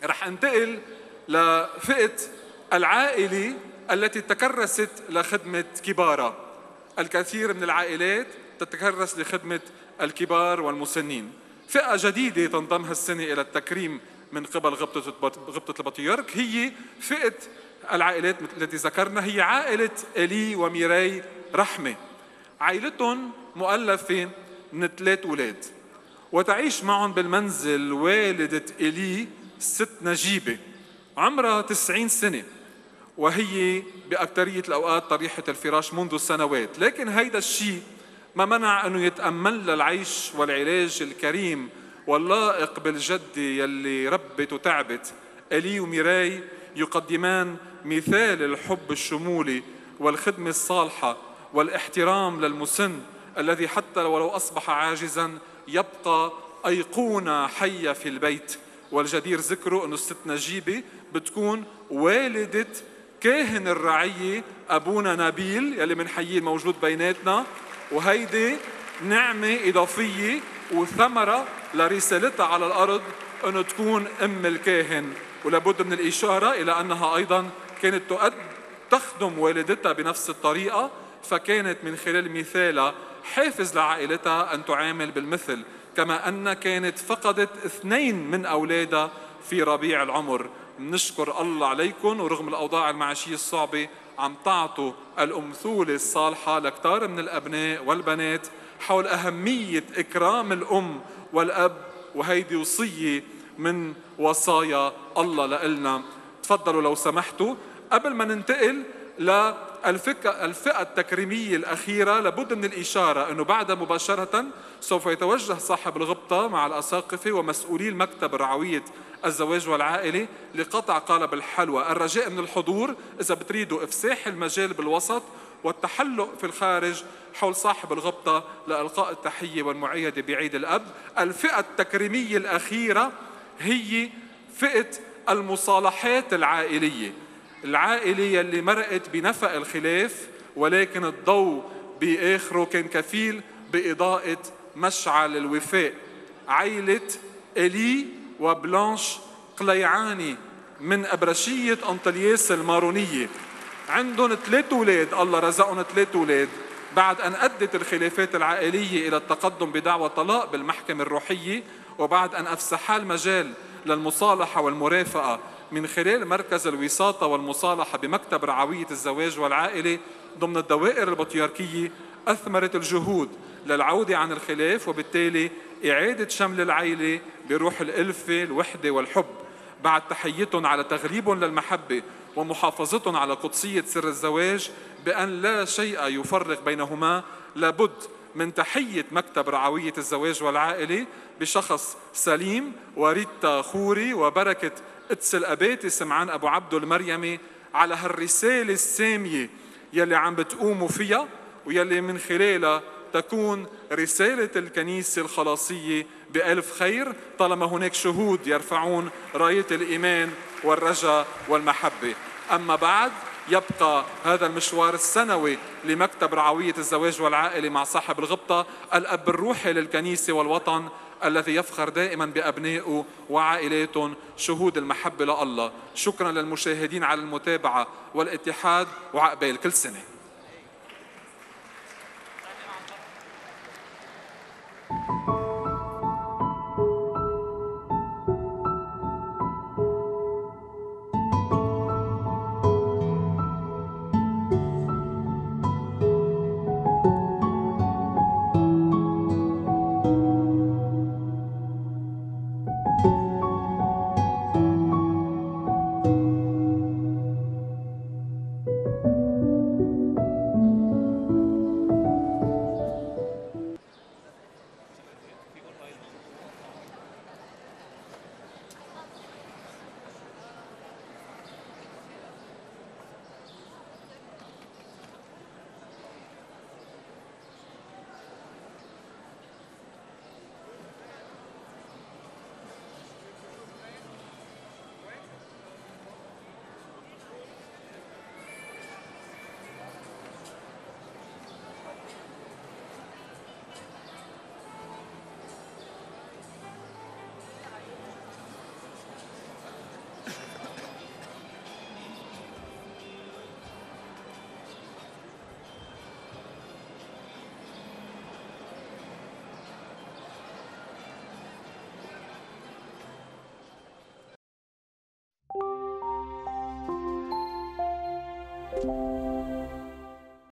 رح انتقل لفئة العائلة التي تكرست لخدمة كبارها. الكثير من العائلات تتكرس لخدمة الكبار والمسنين. فئة جديدة تنضم هالسنة إلى التكريم من قبل غبطة غبطة البطيرك هي فئة العائلات التي ذكرنا، هي عائلة إلي وميراي رحمة. عائلتهم مؤلفة من ثلاث أولاد، وتعيش معهم بالمنزل والدة إلي ست نجيبة عمرها تسعين سنة، وهي بأكثرية الأوقات طريحة الفراش منذ سنوات. لكن هيدا الشيء ما منع أنه يتأمل للعيش والعلاج الكريم واللائق بالجدة يلي ربت وتعبت. إلي وميراي يقدمان مثال الحب الشمولي والخدمة الصالحة والاحترام للمسن الذي حتى ولو أصبح عاجزاً يبقى أيقونة حية في البيت. والجدير ذكره أنه الست نجيبة بتكون والدة كاهن الرعية أبونا نبيل يلي منحييه الموجود بيناتنا، وهيدي نعمة إضافية وثمرة لرسالتها على الأرض أنه تكون أم الكاهن. ولابد من الإشارة إلى أنها أيضاً كانت تؤد تخدم والدتها بنفس الطريقة، فكانت من خلال مثالها حافز لعائلتها أن تعامل بالمثل، كما أن كانت فقدت اثنين من أولادها في ربيع العمر. نشكر الله عليكم، ورغم الأوضاع المعيشية الصعبة عم تعطوا الأمثولة الصالحة لكتار من الأبناء والبنات حول أهمية إكرام الأم والأب، وهيدي وصية من وصايا الله لإلنا. تفضلوا لو سمحتوا. قبل ما ننتقل للفئة التكريمية الأخيرة لابد من الإشارة أنه بعد مباشرة سوف يتوجه صاحب الغبطة مع الأساقفة ومسؤولي المكتب رعوية الزواج والعائلة لقطع قالب الحلوى. الرجاء من الحضور إذا بتريدوا إفساح المجال بالوسط والتحلق في الخارج حول صاحب الغبطة لإلقاء التحية والمعايدة بعيد الأب. الفئة التكريمية الأخيرة هي فئة المصالحات العائلية، العائلة يلي مرقت بنفق الخلاف، ولكن الضوء بآخره كان كفيل بإضاءة مشعل الوفاء. عائلة إلي وبلانش قليعاني من أبرشية أنطلياس المارونية. عندهم ثلاث أولاد، الله رزقهم ثلاث أولاد. بعد أن أدت الخلافات العائلية إلى التقدم بدعوى طلاق بالمحكمة الروحية، وبعد أن أفسحا المجال للمصالحة والمرافقة من خلال مركز الوساطة والمصالحة بمكتب رعوية الزواج والعائلة ضمن الدوائر البطياركية، أثمرت الجهود للعودة عن الخلاف وبالتالي إعادة شمل العائلة بروح الألفة الوحدة والحب. بعد تحيتهم على تغليبهم للمحبة ومحافظتهم على قدسية سر الزواج بأن لا شيء يفرق بينهما، لابد من تحية مكتب رعوية الزواج والعائلة بشخص سليم وريتا خوري وبركة قدس الأباتي سمعان أبو عبدو المريمي على هالرسالة السامية يلي عم بتقوموا فيها، ويلي من خلالها تكون رسالة الكنيسة الخلاصية بألف خير طالما هناك شهود يرفعون راية الإيمان والرجاء والمحبة. أما بعد يبقى هذا المشوار السنوي لمكتب رعوية الزواج والعائلة مع صاحب الغبطة، الأب الروحي للكنيسة والوطن الذي يفخر دائما بأبنائه وعائلاتهم شهود المحبة لله. شكرا للمشاهدين على المتابعة والاتحاد، وعقبال كل سنة.